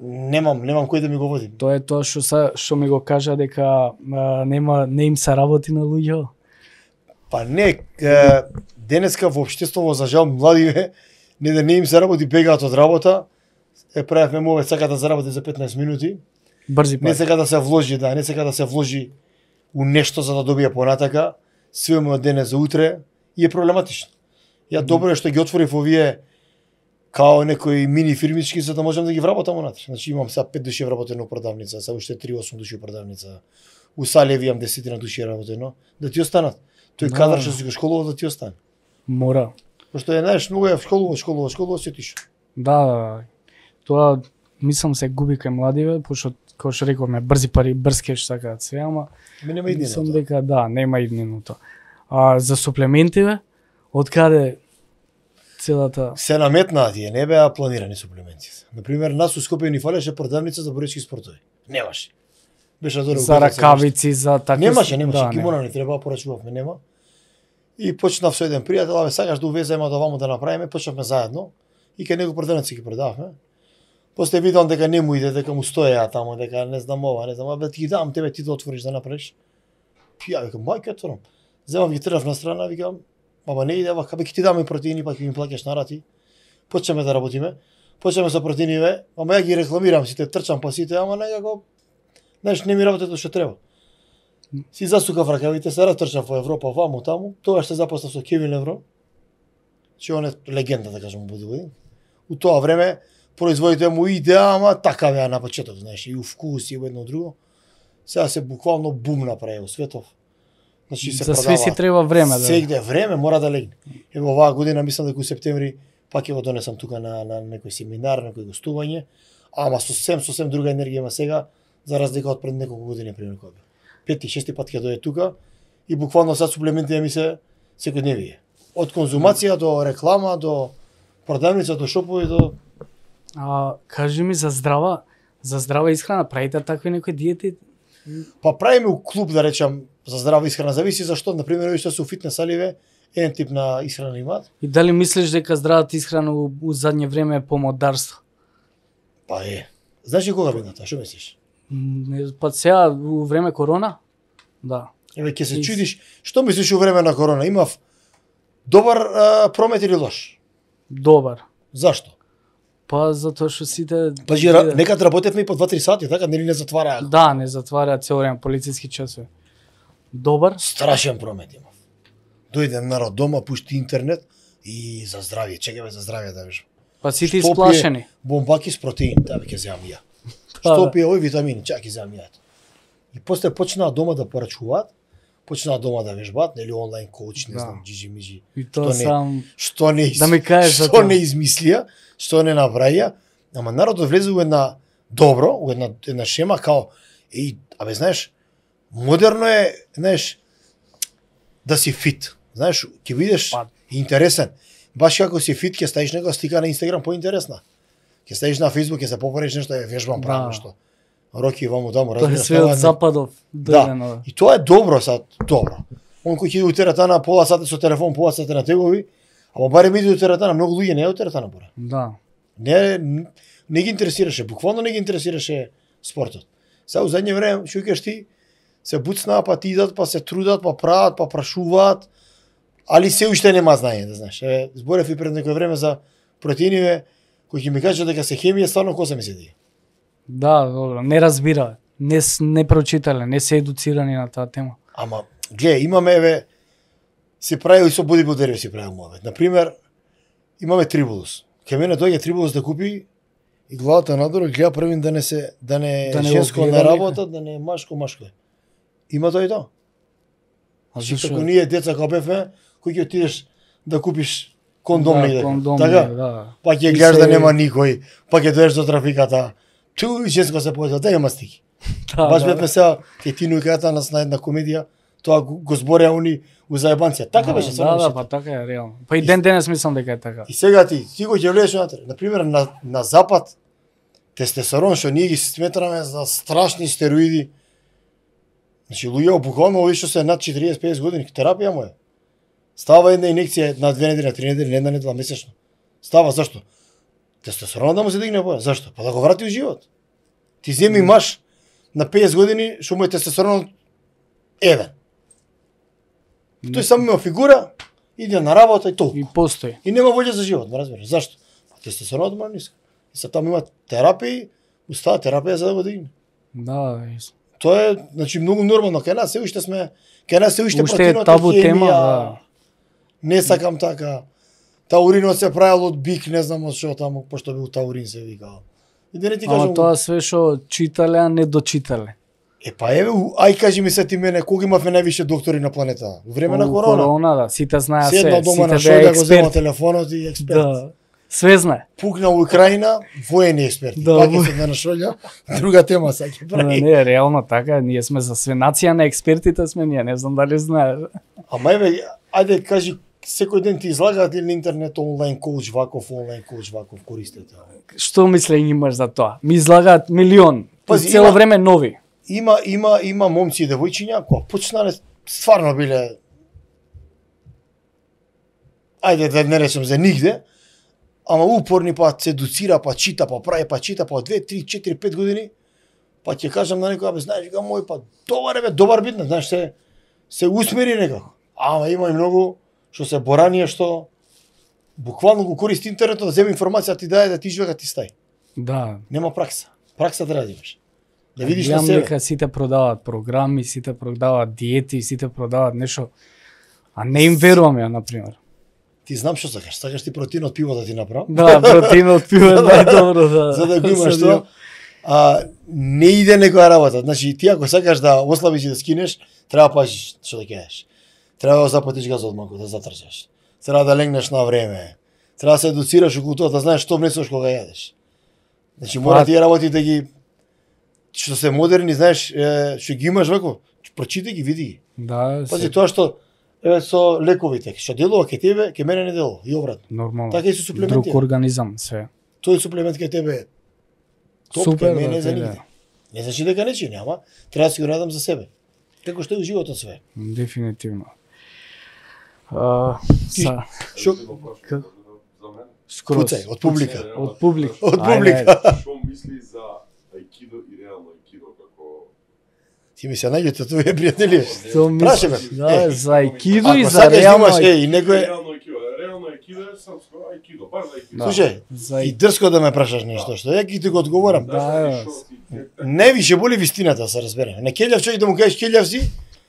Немам кој да ми го води. Тоа е тоа што ми го кажа дека не им се работи на луѓе. Па не, денеска во општеството за жал младиве не им се работи, бегаат од работа. Правевме му сака да заработи за 15 минути. Брзи пак. Не сака да се вложи, не сака да се вложи у нешто за да добие понатака. Све му од денес за утре и е проблематично. Ја добро е што ги отворив овие као некои мини фирмички за да можам да ги вработам унатре. Значи имам сега 5 души вработено продавница, сега уште 3-8 души продавница. У Салеви имам 10 души работено, да ти останат. Тој кадар што си го школувал да ти остане. Мора. Пошто е знаеш многу е школува се тиш. Да. Тоа мислам се губи кај младиве, пошто како што рековме брзи пари, брз кеш сакаат све, ама нема иднина. Мислам дека да, нема иднина тоа. А за суплементиве, од каде целата се наметнаа тие, не беа планирани суплементите. Например, нас у Скопје ни фалеше продавница за боречки спортови. Немаше. Беше дорого. За ракавици, за такви. Немаше, кимона не треба, порачувавме, нема. И почнав со еден пријател, абе сакаш да увеземе од оваму да направиме, почнавме заедно и кај него продавници ги продававме. После видам дека не му иде, дека му стоеа таму, дека не знам ова, не знам, абе ти ги дам тебе ти да отвориш да направиш. Ја викам, мајка отворам. Земав ги тргнав на страна, викам, ама не иде, вака, бе ќе ти дам и протеини, па ќе ми плаќаш на рати. Почнеме да работиме. Почнеме со протеиниве, ама ја ги рекламирам сите, трчам па сите, ама некако знаеш, не ми работи што треба. Си засукав ракавите, се ратрчав во Европа, ваму таму, тоа што запослав со Кевин Левро, че он е легенда, да кажем, бодибилдинг. У тоа време производите му идеа, ама така беа на почеток, знаеш, и у вкус и во едно друго. Сега се буквално бум направи во светов. Значи се за продава. све си треба време, да. Сегде време мора да легне. Ево оваа година мислам дека у септември пак ќе го донесам тука на некој семинар, некој гостување, ама сосем друга енергија има сега, за разлика од пред неколку години пример кога бе. 5-6 пат ќе дојде тука и буквално сега суплементите ми се секојдневие. Од конзумација до реклама, до продавница, до шопови, до кажи ми за здрава исхрана, правите такви некои диети? Па правиме у клуб, да речам, за здрава исхрана, зависи зашто, на пример, што се у фитнес саливе, еден тип на исхрана имаат. И дали мислиш дека здравата исхрана у задње време е помодарство? Па е. Знаеш ли кога бидна тоа, што мислиш? Па сега у време корона? Да. Еве ќе се чудиш, што мислиш у време на корона? Имав Добар промет или лош? Добар. Зашто? Па затоа што сите Пажи, некад работевме и по 2-3 сати, така нели не затвараа. Да, не затвараа цел време полициски часови. Добар? Страшен промет имав. Дојде народ дома, пушти интернет и за здравје, чекаме за здравје да вежам. Па сите Што исплашени. пие бомбаки с протеин, да ќе земам ја. Што пие овој витамини, чак ќе земам ја. И после почнаа дома да порачуваат, почнаа дома да вежбаат, нели онлайн коуч, не знам, джиджи-миджи. И тоа сам Што не да ми кажеш за што тоа. не измислија, што не направија, ама народот влезе во една добро, во една шема као абе знаеш, модерно е, знаеш, да си фит. Знаеш, ќе бидеш интересен. Баш како си фит, ќе ставиш некоја слика на Инстаграм поинтересна. Ќе ставиш на Фејсбук, ќе се поправиш нешто, вежбам правам нешто. Роки ваму таму, Тоа е разбираш. све од западов. Да. И тоа е добро сад, добро. Он кој ќе иде у теретана пола сата со телефон, пола сата на тегови, ама барем иде у теретана, многу луѓе не е у теретана боре. Да. Не ги интересираше, буквално не ги интересираше спортот. Сега у задње време, што кажеш ти, се буцнаа, па ти идат, па се трудат, па прават, па прашуваат, али се уште нема знаење, да знаеш. Зборев и пред некој време за протеиниве, кој ќе ми каже дека се хемија, стварно коса ми се ди. Да, добро, не разбираат, не прочитале, не се едуцирани на таа тема. Ама, гледај, имаме, се прави и со бодибилдери се прави муавет. Например, имаме трибулус. Кај мене доаѓа трибулус да купи и главата надолу гледа првин да не женско на работа, да не машко. Има тоа и тоа. А Зашто зашо? како ние деца кога бевме, кој ќе отидеш да купиш кондом Да, негде. кондом, Така? да. Па ќе И гледаш се- да нема никој, па ќе доеш до трафиката. Ту женско се појде, да има стики. Баш бевме сега ќе Тину и Ката нас на една комедија, тоа го збореа они у заебанција. Така беше само. Да, па така е реално. Па и ден денес мислам дека е така. И сега ти го ќе влезеш внатре. Например, на запад тестостерон што ние ги сметраме за страшни стероиди. Значи луѓе буквално овие што се над 40-50 години, терапија му е. Става една инекција на 2 недели, на 3 недели, на една недела месечно. Става зашто? Тестостеронот да му се дигне боја. Зашто? Па да го врати у живот. Ти земи маж на 50 години што му е тестостеронот еден. Тој само има фигура, иде на работа и толку. И постои. И нема волја за живот, ме разбираш. Зашто? Тестостеронот му е ниск. И се таму има терапија, устава терапија за да го дигне. Да, Тоа е, значи, многу нормално. Кај нас се уште сме, кај нас се уште уште е протеинот табу хемија, тема, да. Не сакам така. Тауринот се правил од бик, не знам од што таму, пошто бил таурин се викал. И да не ти кажам. Ама тоа све што читале, а не дочитале. Па еве, ај кажи ми се ти мене, кога имавме највише доктори на планета? Во време на корона. Корона, да, сите знаат Седна се, дома на сите беа шојда, го зема експерти. телефонот и експерт. Да. Све знае. Пукна у Украина, воени експерти. Да, Пак е седна на шојда, друга тема сега ќе Да, прави. не, реално така, ние сме за све нација на експертите сме ние, не знам дали знаеш. Ама еве, ајде кажи, секој ден ти излагаат или на интернет онлайн коуч ваков користите. Што мислење имаш за тоа? Ми излагаат милион. Пази, Цело има- време нови. Има момци и девојчиња кои почнале стварно биле ајде да не речем за нигде, ама упорни, па се едуцира, па чита, па прави, па чита, па 2, 3, 4, 5 години, па ќе кажам на некој, абе знаеш дека мој па добар битна, знаеш се усмери некако. Ама има и многу што се боранија што буквално го користи интернетот да земе информација ти даде да ти живега ти стај. Да. Нема пракса. Пракса треба да имаш. Да видиш на Гледам себе. дека сите продаваат програми, сите продаваат диети, сите продаваат нешто, а не им верувам ја, например. Ти знам што сакаш. Сакаш ти протеин од пиво да ти направам. Да, протеин од пиво е најдобро, да. За да го имаш тоа. Не иде некоја работа. Значи ти ако сакаш да ослабиш и да скинеш, треба да пазиш што да ќедеш. Треба да запатиш газот малку, да затрчаш. Треба да легнеш на време. Треба да се едуцираш околу тоа, да знаеш што внесуваш кога јадеш. Значи мора тие работи да ги што се модерни, знаеш, што ги имаш вако, прочитај ги, види ги. Да, Пази тоа што еве со лековите, што делува кај тебе, кај мене не делува и обратно. нормално. Така и со суплементи. Друг организам, се. Тој суплемент кај тебе е топ, Супер, кај мене да, за да. нигде. Не значи дека не чини, ама треба да си го радам за себе. Како што е у животот све. Дефинитивно. Ти- Са, Што К- За мене. скроз. Куцај, од публика. Од публика. Од Ајде, публика. Што мисли за аикидо и реално аикидо како Ти ми се наѓете тоа пријатели. Што Праши мислиш? ме. Да, за аикидо и Ако за сакаш да реално имаш, и некој реално аикидо српско ајкидо, баш за ајкидо. Да. Слушај, За- и дрско да ме прашаш нешто, што ја ти го одговорам. Да, Не више боли вистината, се разбере. Не келјав човек да му кажеш келјав си,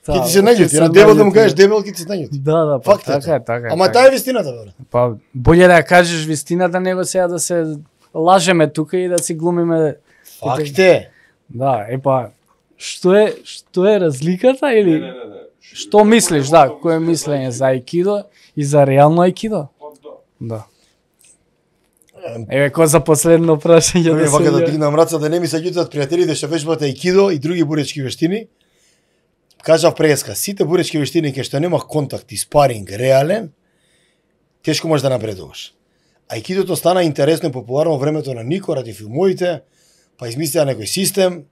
Да, ќе ти се ќе наѓути. се На дебел да му наѓути. кажеш дебел, ќе ти се наѓути. Да, па Факт е така тоа. е, така е. Ама така таа е вистината, бе. Па боле да ја кажеш вистината него сега да се лажеме тука и да си глумиме. Факт е. Да, што е разликата или Не. што мислиш, да, кое е мислење за ајкидо и за реално ајкидо? Па да. Да. Еве кој за последно прашање Еве да вака да се дигнам раца да не ми се љутат пријателите што вежбат ајкидо и други боречки вештини. Кажав преска, сите боречки вештини кај што нема контакт и спаринг реален, тешко можеш да напредуваш. Ајкидото стана интересно и популарно во времето на Нико ради филмовите, па измислија некој систем,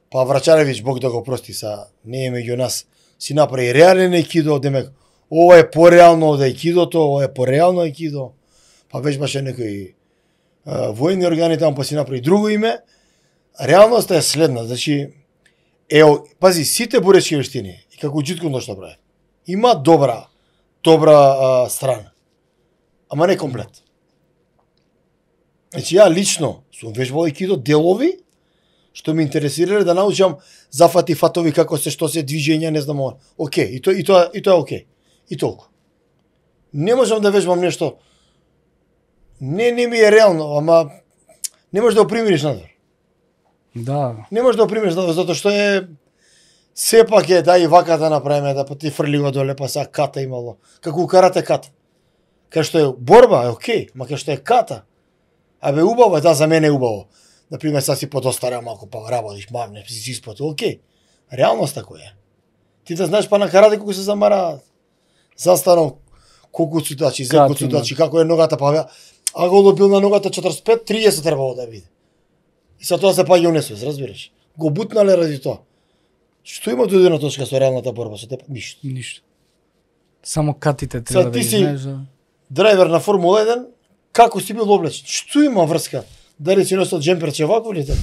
па Врачаревиќ, Бог да го прости, са не е меѓу нас, си направи реален ајкидо, демек ова е пореално од ајкидото, ова е пореално ајкидо, па вежбаше некои војни органи таму, па си направи друго име. Реалноста е следна, значи пази, сите боречки вештини, и како џиткундо што прави, има добра страна, ама не комплет. Значи ја лично сум вежбал ајкидо делови што ме интересирале да научам зафати фатови како се што се движења, не знам, окей, и тоа е окей. И толку. Не можам да вежбам нешто. Не ми е реално, ама не можеш да го примириш надвор. Да. Не можеш да го примириш надвор затоа што е сепак е да и вака да направиме, да па ти фрли го доле, па сега ката имало. Како у карате ката. Кај што е борба е окей, ма кај што е ката, абе убаво е, да, за мене е убаво. Например, сега си подостарел малку, па работиш, мавне, си испото, окей. Реалноста која е? Ти да знаеш па на карате колку се замара застанок, колку цудачи, зелко цудачи, како е ногата, па а го бил на ногата 45-30 требало да биде. И sa тоа се паѓа унесвес, разбираш? Го бутнале ради тоа. Што има додирна точка со реалната борба со теб? Ништо. Ништо. Само катите треба да ти ги си знаеш. драйвер на Формула 1, како си бил облечен? Што има врска? Дали си носел джемперче вако или така?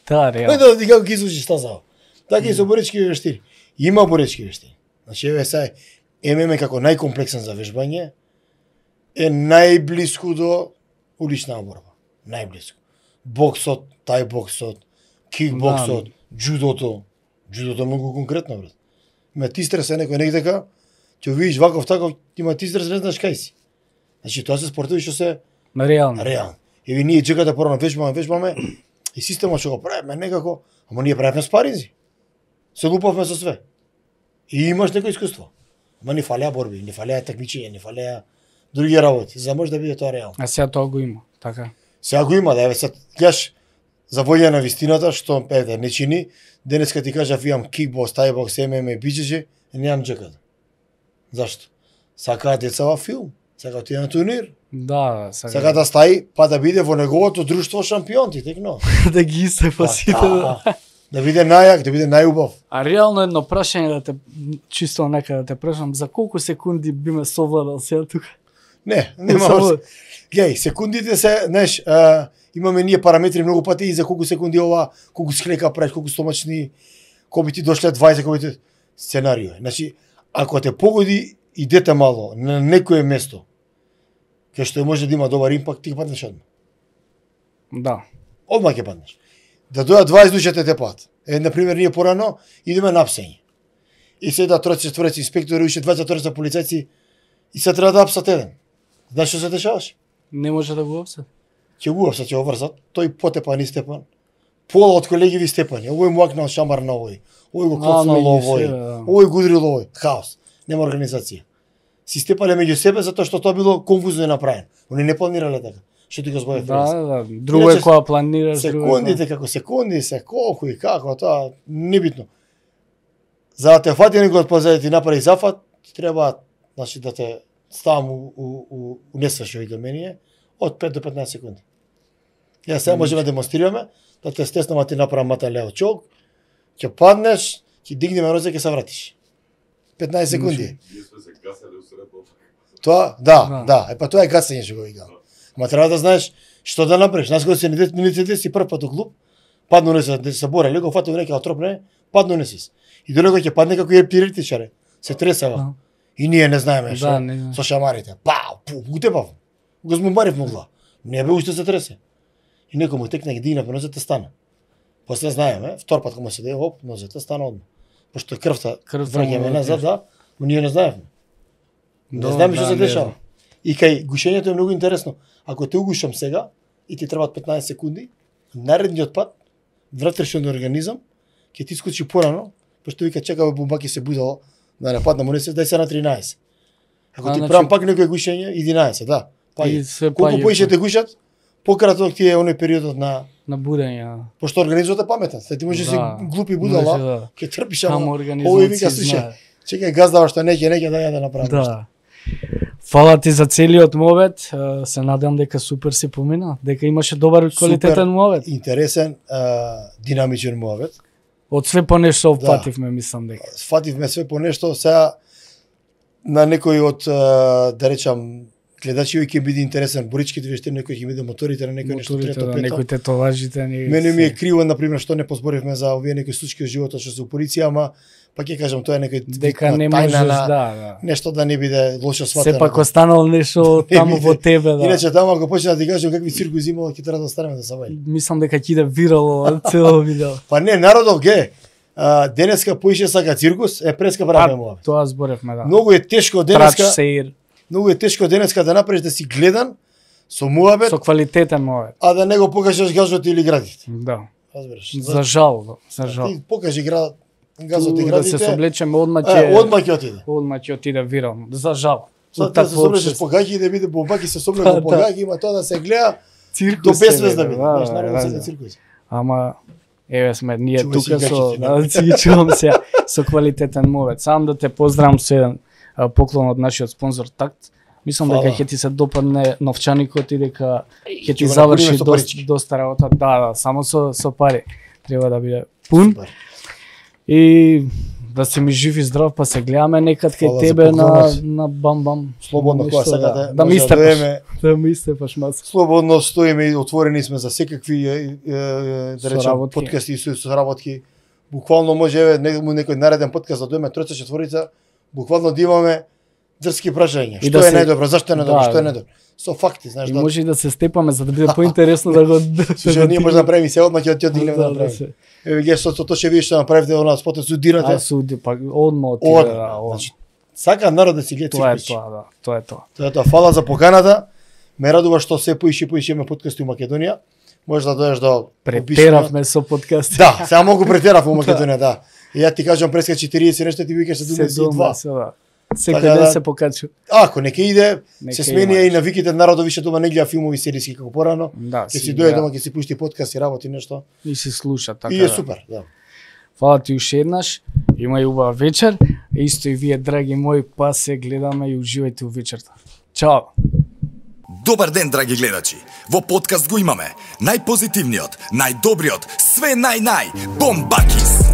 Да, реално. Да ти како ги изучиш стазава. Така и со боречки вештини. Има боречки вештини. Значи еве сега ММА како најкомплексен за вежбање е најблиску до улична борба. Најблиску. Боксот, тај боксот, кикбоксот, џудото. Џудото е многу конкретно, брат. Има ти стрес некој негдека, ќе видиш ваков таков, има ти стрес, не знаеш кај си. Значи тоа се спортови што се Реално. реално. Еве ние чекате порано вежбаме и системот што го правиме некако, ама ние правиме спаринзи. Се лупавме со све. И имаш некој искуство. Ама ни фалеа борби, ни фалеа такмичења, ни фалеа други работи, за да може да биде тоа реално. А сега тоа го има, така. Сега го има, да еве се гледаш за војна на вистината што еве не чини, денеска ти кажав имам кикбокс, тајбокс, ММА, биџеџи, немам джеката. Зашто? Сакаат деца во филм, сакаат ти на турнир. Да, Сака да стаи, па да биде во неговото друштво шампион, ти текно. да ги истепа сите. Да биде најак, да биде најубав. А реално едно прашање да те чисто нека да те прашам, за колку секунди би ме совладал сега тука? Не, нема. Само- Геј, секундите се, знаеш, имаме ние параметри многу пати и за колку секунди ова, колку склека правиш, колку стомачни, кој би ти дошле 20, кој би ти сценарио. Значи, ако те погоди идете мало на некое место, кај што може да има добар импакт, ти ќе паднеш одма. Да. Одма ќе паднеш. Да дојат 20 души те пат. На пример, ние порано идеме на апсење. И седа тројца, четворица инспектори, уште 24 полицајци и се треба да апсат еден. Знаеш што се дешаваше? Не може да го опсат. Ќе го апсат, ќе го врзат, тој потепан и степан. Пола од колегиви степани, овој му акнал шамар на овој, овој го коцнал меѓу овој, себе, да. овој го удрил овој, хаос, нема организација. Си степале меѓу себе затоа што тоа било конфузно е направено. Они не планирале така. Што ти го збоев Да. Друго е Иначе, кога планираш, друго е секундите како секунди, се колку и како, тоа небитно. За да те фати некој од позади ти направи зафат, ти треба, значи да те ставам у несвеш овие менија од 5 до 15 секунди. Ја сега можеме да демонстрираме, да те стеснам, ти направам мата лево чок, ќе паднеш, ќе дигнеме розе, ќе се вратиш. 15 секунди. Ние сме се гасали усредно. Тоа, да, па тоа е гасење што го викам. Ма треба да знаеш што да направиш. Нас кога се минуте си прв пат у клуб, падну не се бореле, го фатил некој отропне, падну не си. И додека ќе падне како ептиритичаре, се тресава. И ние не знаеме што. не. Со шамарите. Пау, пу, утепав. Го змумбарив могла. Не бе уште се тресе. И некој му текна ги дигна по нозете стана. После знаеме, втор пат кога се даде, оп, нозете стана одма. Пошто крвта враќаме назад, да, но ние не знаевме. Не знаеме што се дешава. И кај гушењето е многу интересно. Ако те угушам сега и ти требаат 15 секунди, наредниот пат внатрешен организам ќе ти искочи порано, пошто вика чекава бомбаки се будало да не падна, му не се дај се на 13. Ако ти правам пак некој гушење 11, да. Колку поише те гушат, пократок ти е оној периодот на будење. Пошто организмот е паметен. Ти може си глупи будала, ќе трпиш, ама овој вика слушај, чекај газдава што неќе да ја да направи. Да. Фала ти за целиот мовет, се надам дека супер си помина, дека имаше добар квалитетен мовет. Интересен, динамичен мовет. Од све по нешто опфативме, мислам дека. Фативме све по нешто, сега на некој од, да речам, гледачи ќе биде интересен боричките вештини, некој ќе биде моторите, на некој нешто трето, пето. Некој тетоважите. Мене ми е криво, например, што не позборивме за овие некои случаи од животот што се у полиција, ама па ќе кажам тоа е некој дека не можеш да. Нешто да не биде лошо сватено. Сепак останало нешто таму во тебе, да. Иначе таму ако почне да ти кажам какви циркуси имало, ќе треба да останеме да се вајде. Мислам дека ќе иде вирало цело видео. Па не, народов ге. Денеска поише сака циркус, преска правиме мова. Тоа зборевме, да. Многу е тешко денеска. Многу е тешко денеска да направиш да си гледан со муабет, со квалитетен муабет, а да не го покажеш газот или градите. Да. Разбираш. За жал, за жал. Ти покажи газот и градите. Да се соблечеме одма ќе отиде. Одма ќе отиде вирално. За жал. Сад да се соблечеш по гаќи и да биде бомбаки се соблече по гаќи, има тоа да се гледа до безвез да биде. Знаеш, народот се циркус. Ама еве сме ние тука со си чувам се со квалитетен мовет. Сам да те поздравам со еден поклон од нашиот спонзор Такт. Мислам дека ќе ти се допадне новчаникот и дека ќе ти заврши доста работа. Да, само со пари. Треба да биде пун. И да се ми жив и здрав, па се гледаме некад кај тебе на бам-бам. Слободно кога сакате. Да ми истепаш маса. Слободно стоиме и отворени сме за секакви да речем подкасти и соработки. Буквално може некој нареден подкаст да дојме тројца четворица, буквално да имаме дрски прашања. Што е најдобро, зашто е најдобро, што е најдобро. Со факти, знаеш, да. Може и да се степаме за да биде поинтересно да го. Што ние може да направиме се одма ќе одигнеме да направиме. Еве ге со тоа ќе видиш што направивте она спотот судирате. А суди па одма отиде. Значи сака народ да си гледа циркус. Тоа е тоа, да. Тоа е тоа. Тоа е тоа. Фала за поканата. Ме радува што се поише имаме подкасти у Македонија. Може да дојдеш до претеравме со подкасти. Да, сега многу претерав у Македонија, да. И ја ти кажам преска 40 нешто ти викаш 72. Секој ден се покачува. Ако не ќе иде, се смени и навиките народот више дома не гледа филмови сериски како порано. Ќе си дојде дома, ќе си пушти подкаст и работи нешто. И си слуша така. И е супер, да. Фала ти уште еднаш. Има и убава вечер. Исто и вие, драги мои, па се гледаме и уживајте у вечерта. Чао. Добар ден, драги гледачи. Во подкаст го имаме најпозитивниот, најдобриот, све нај-нај, Бомбакис.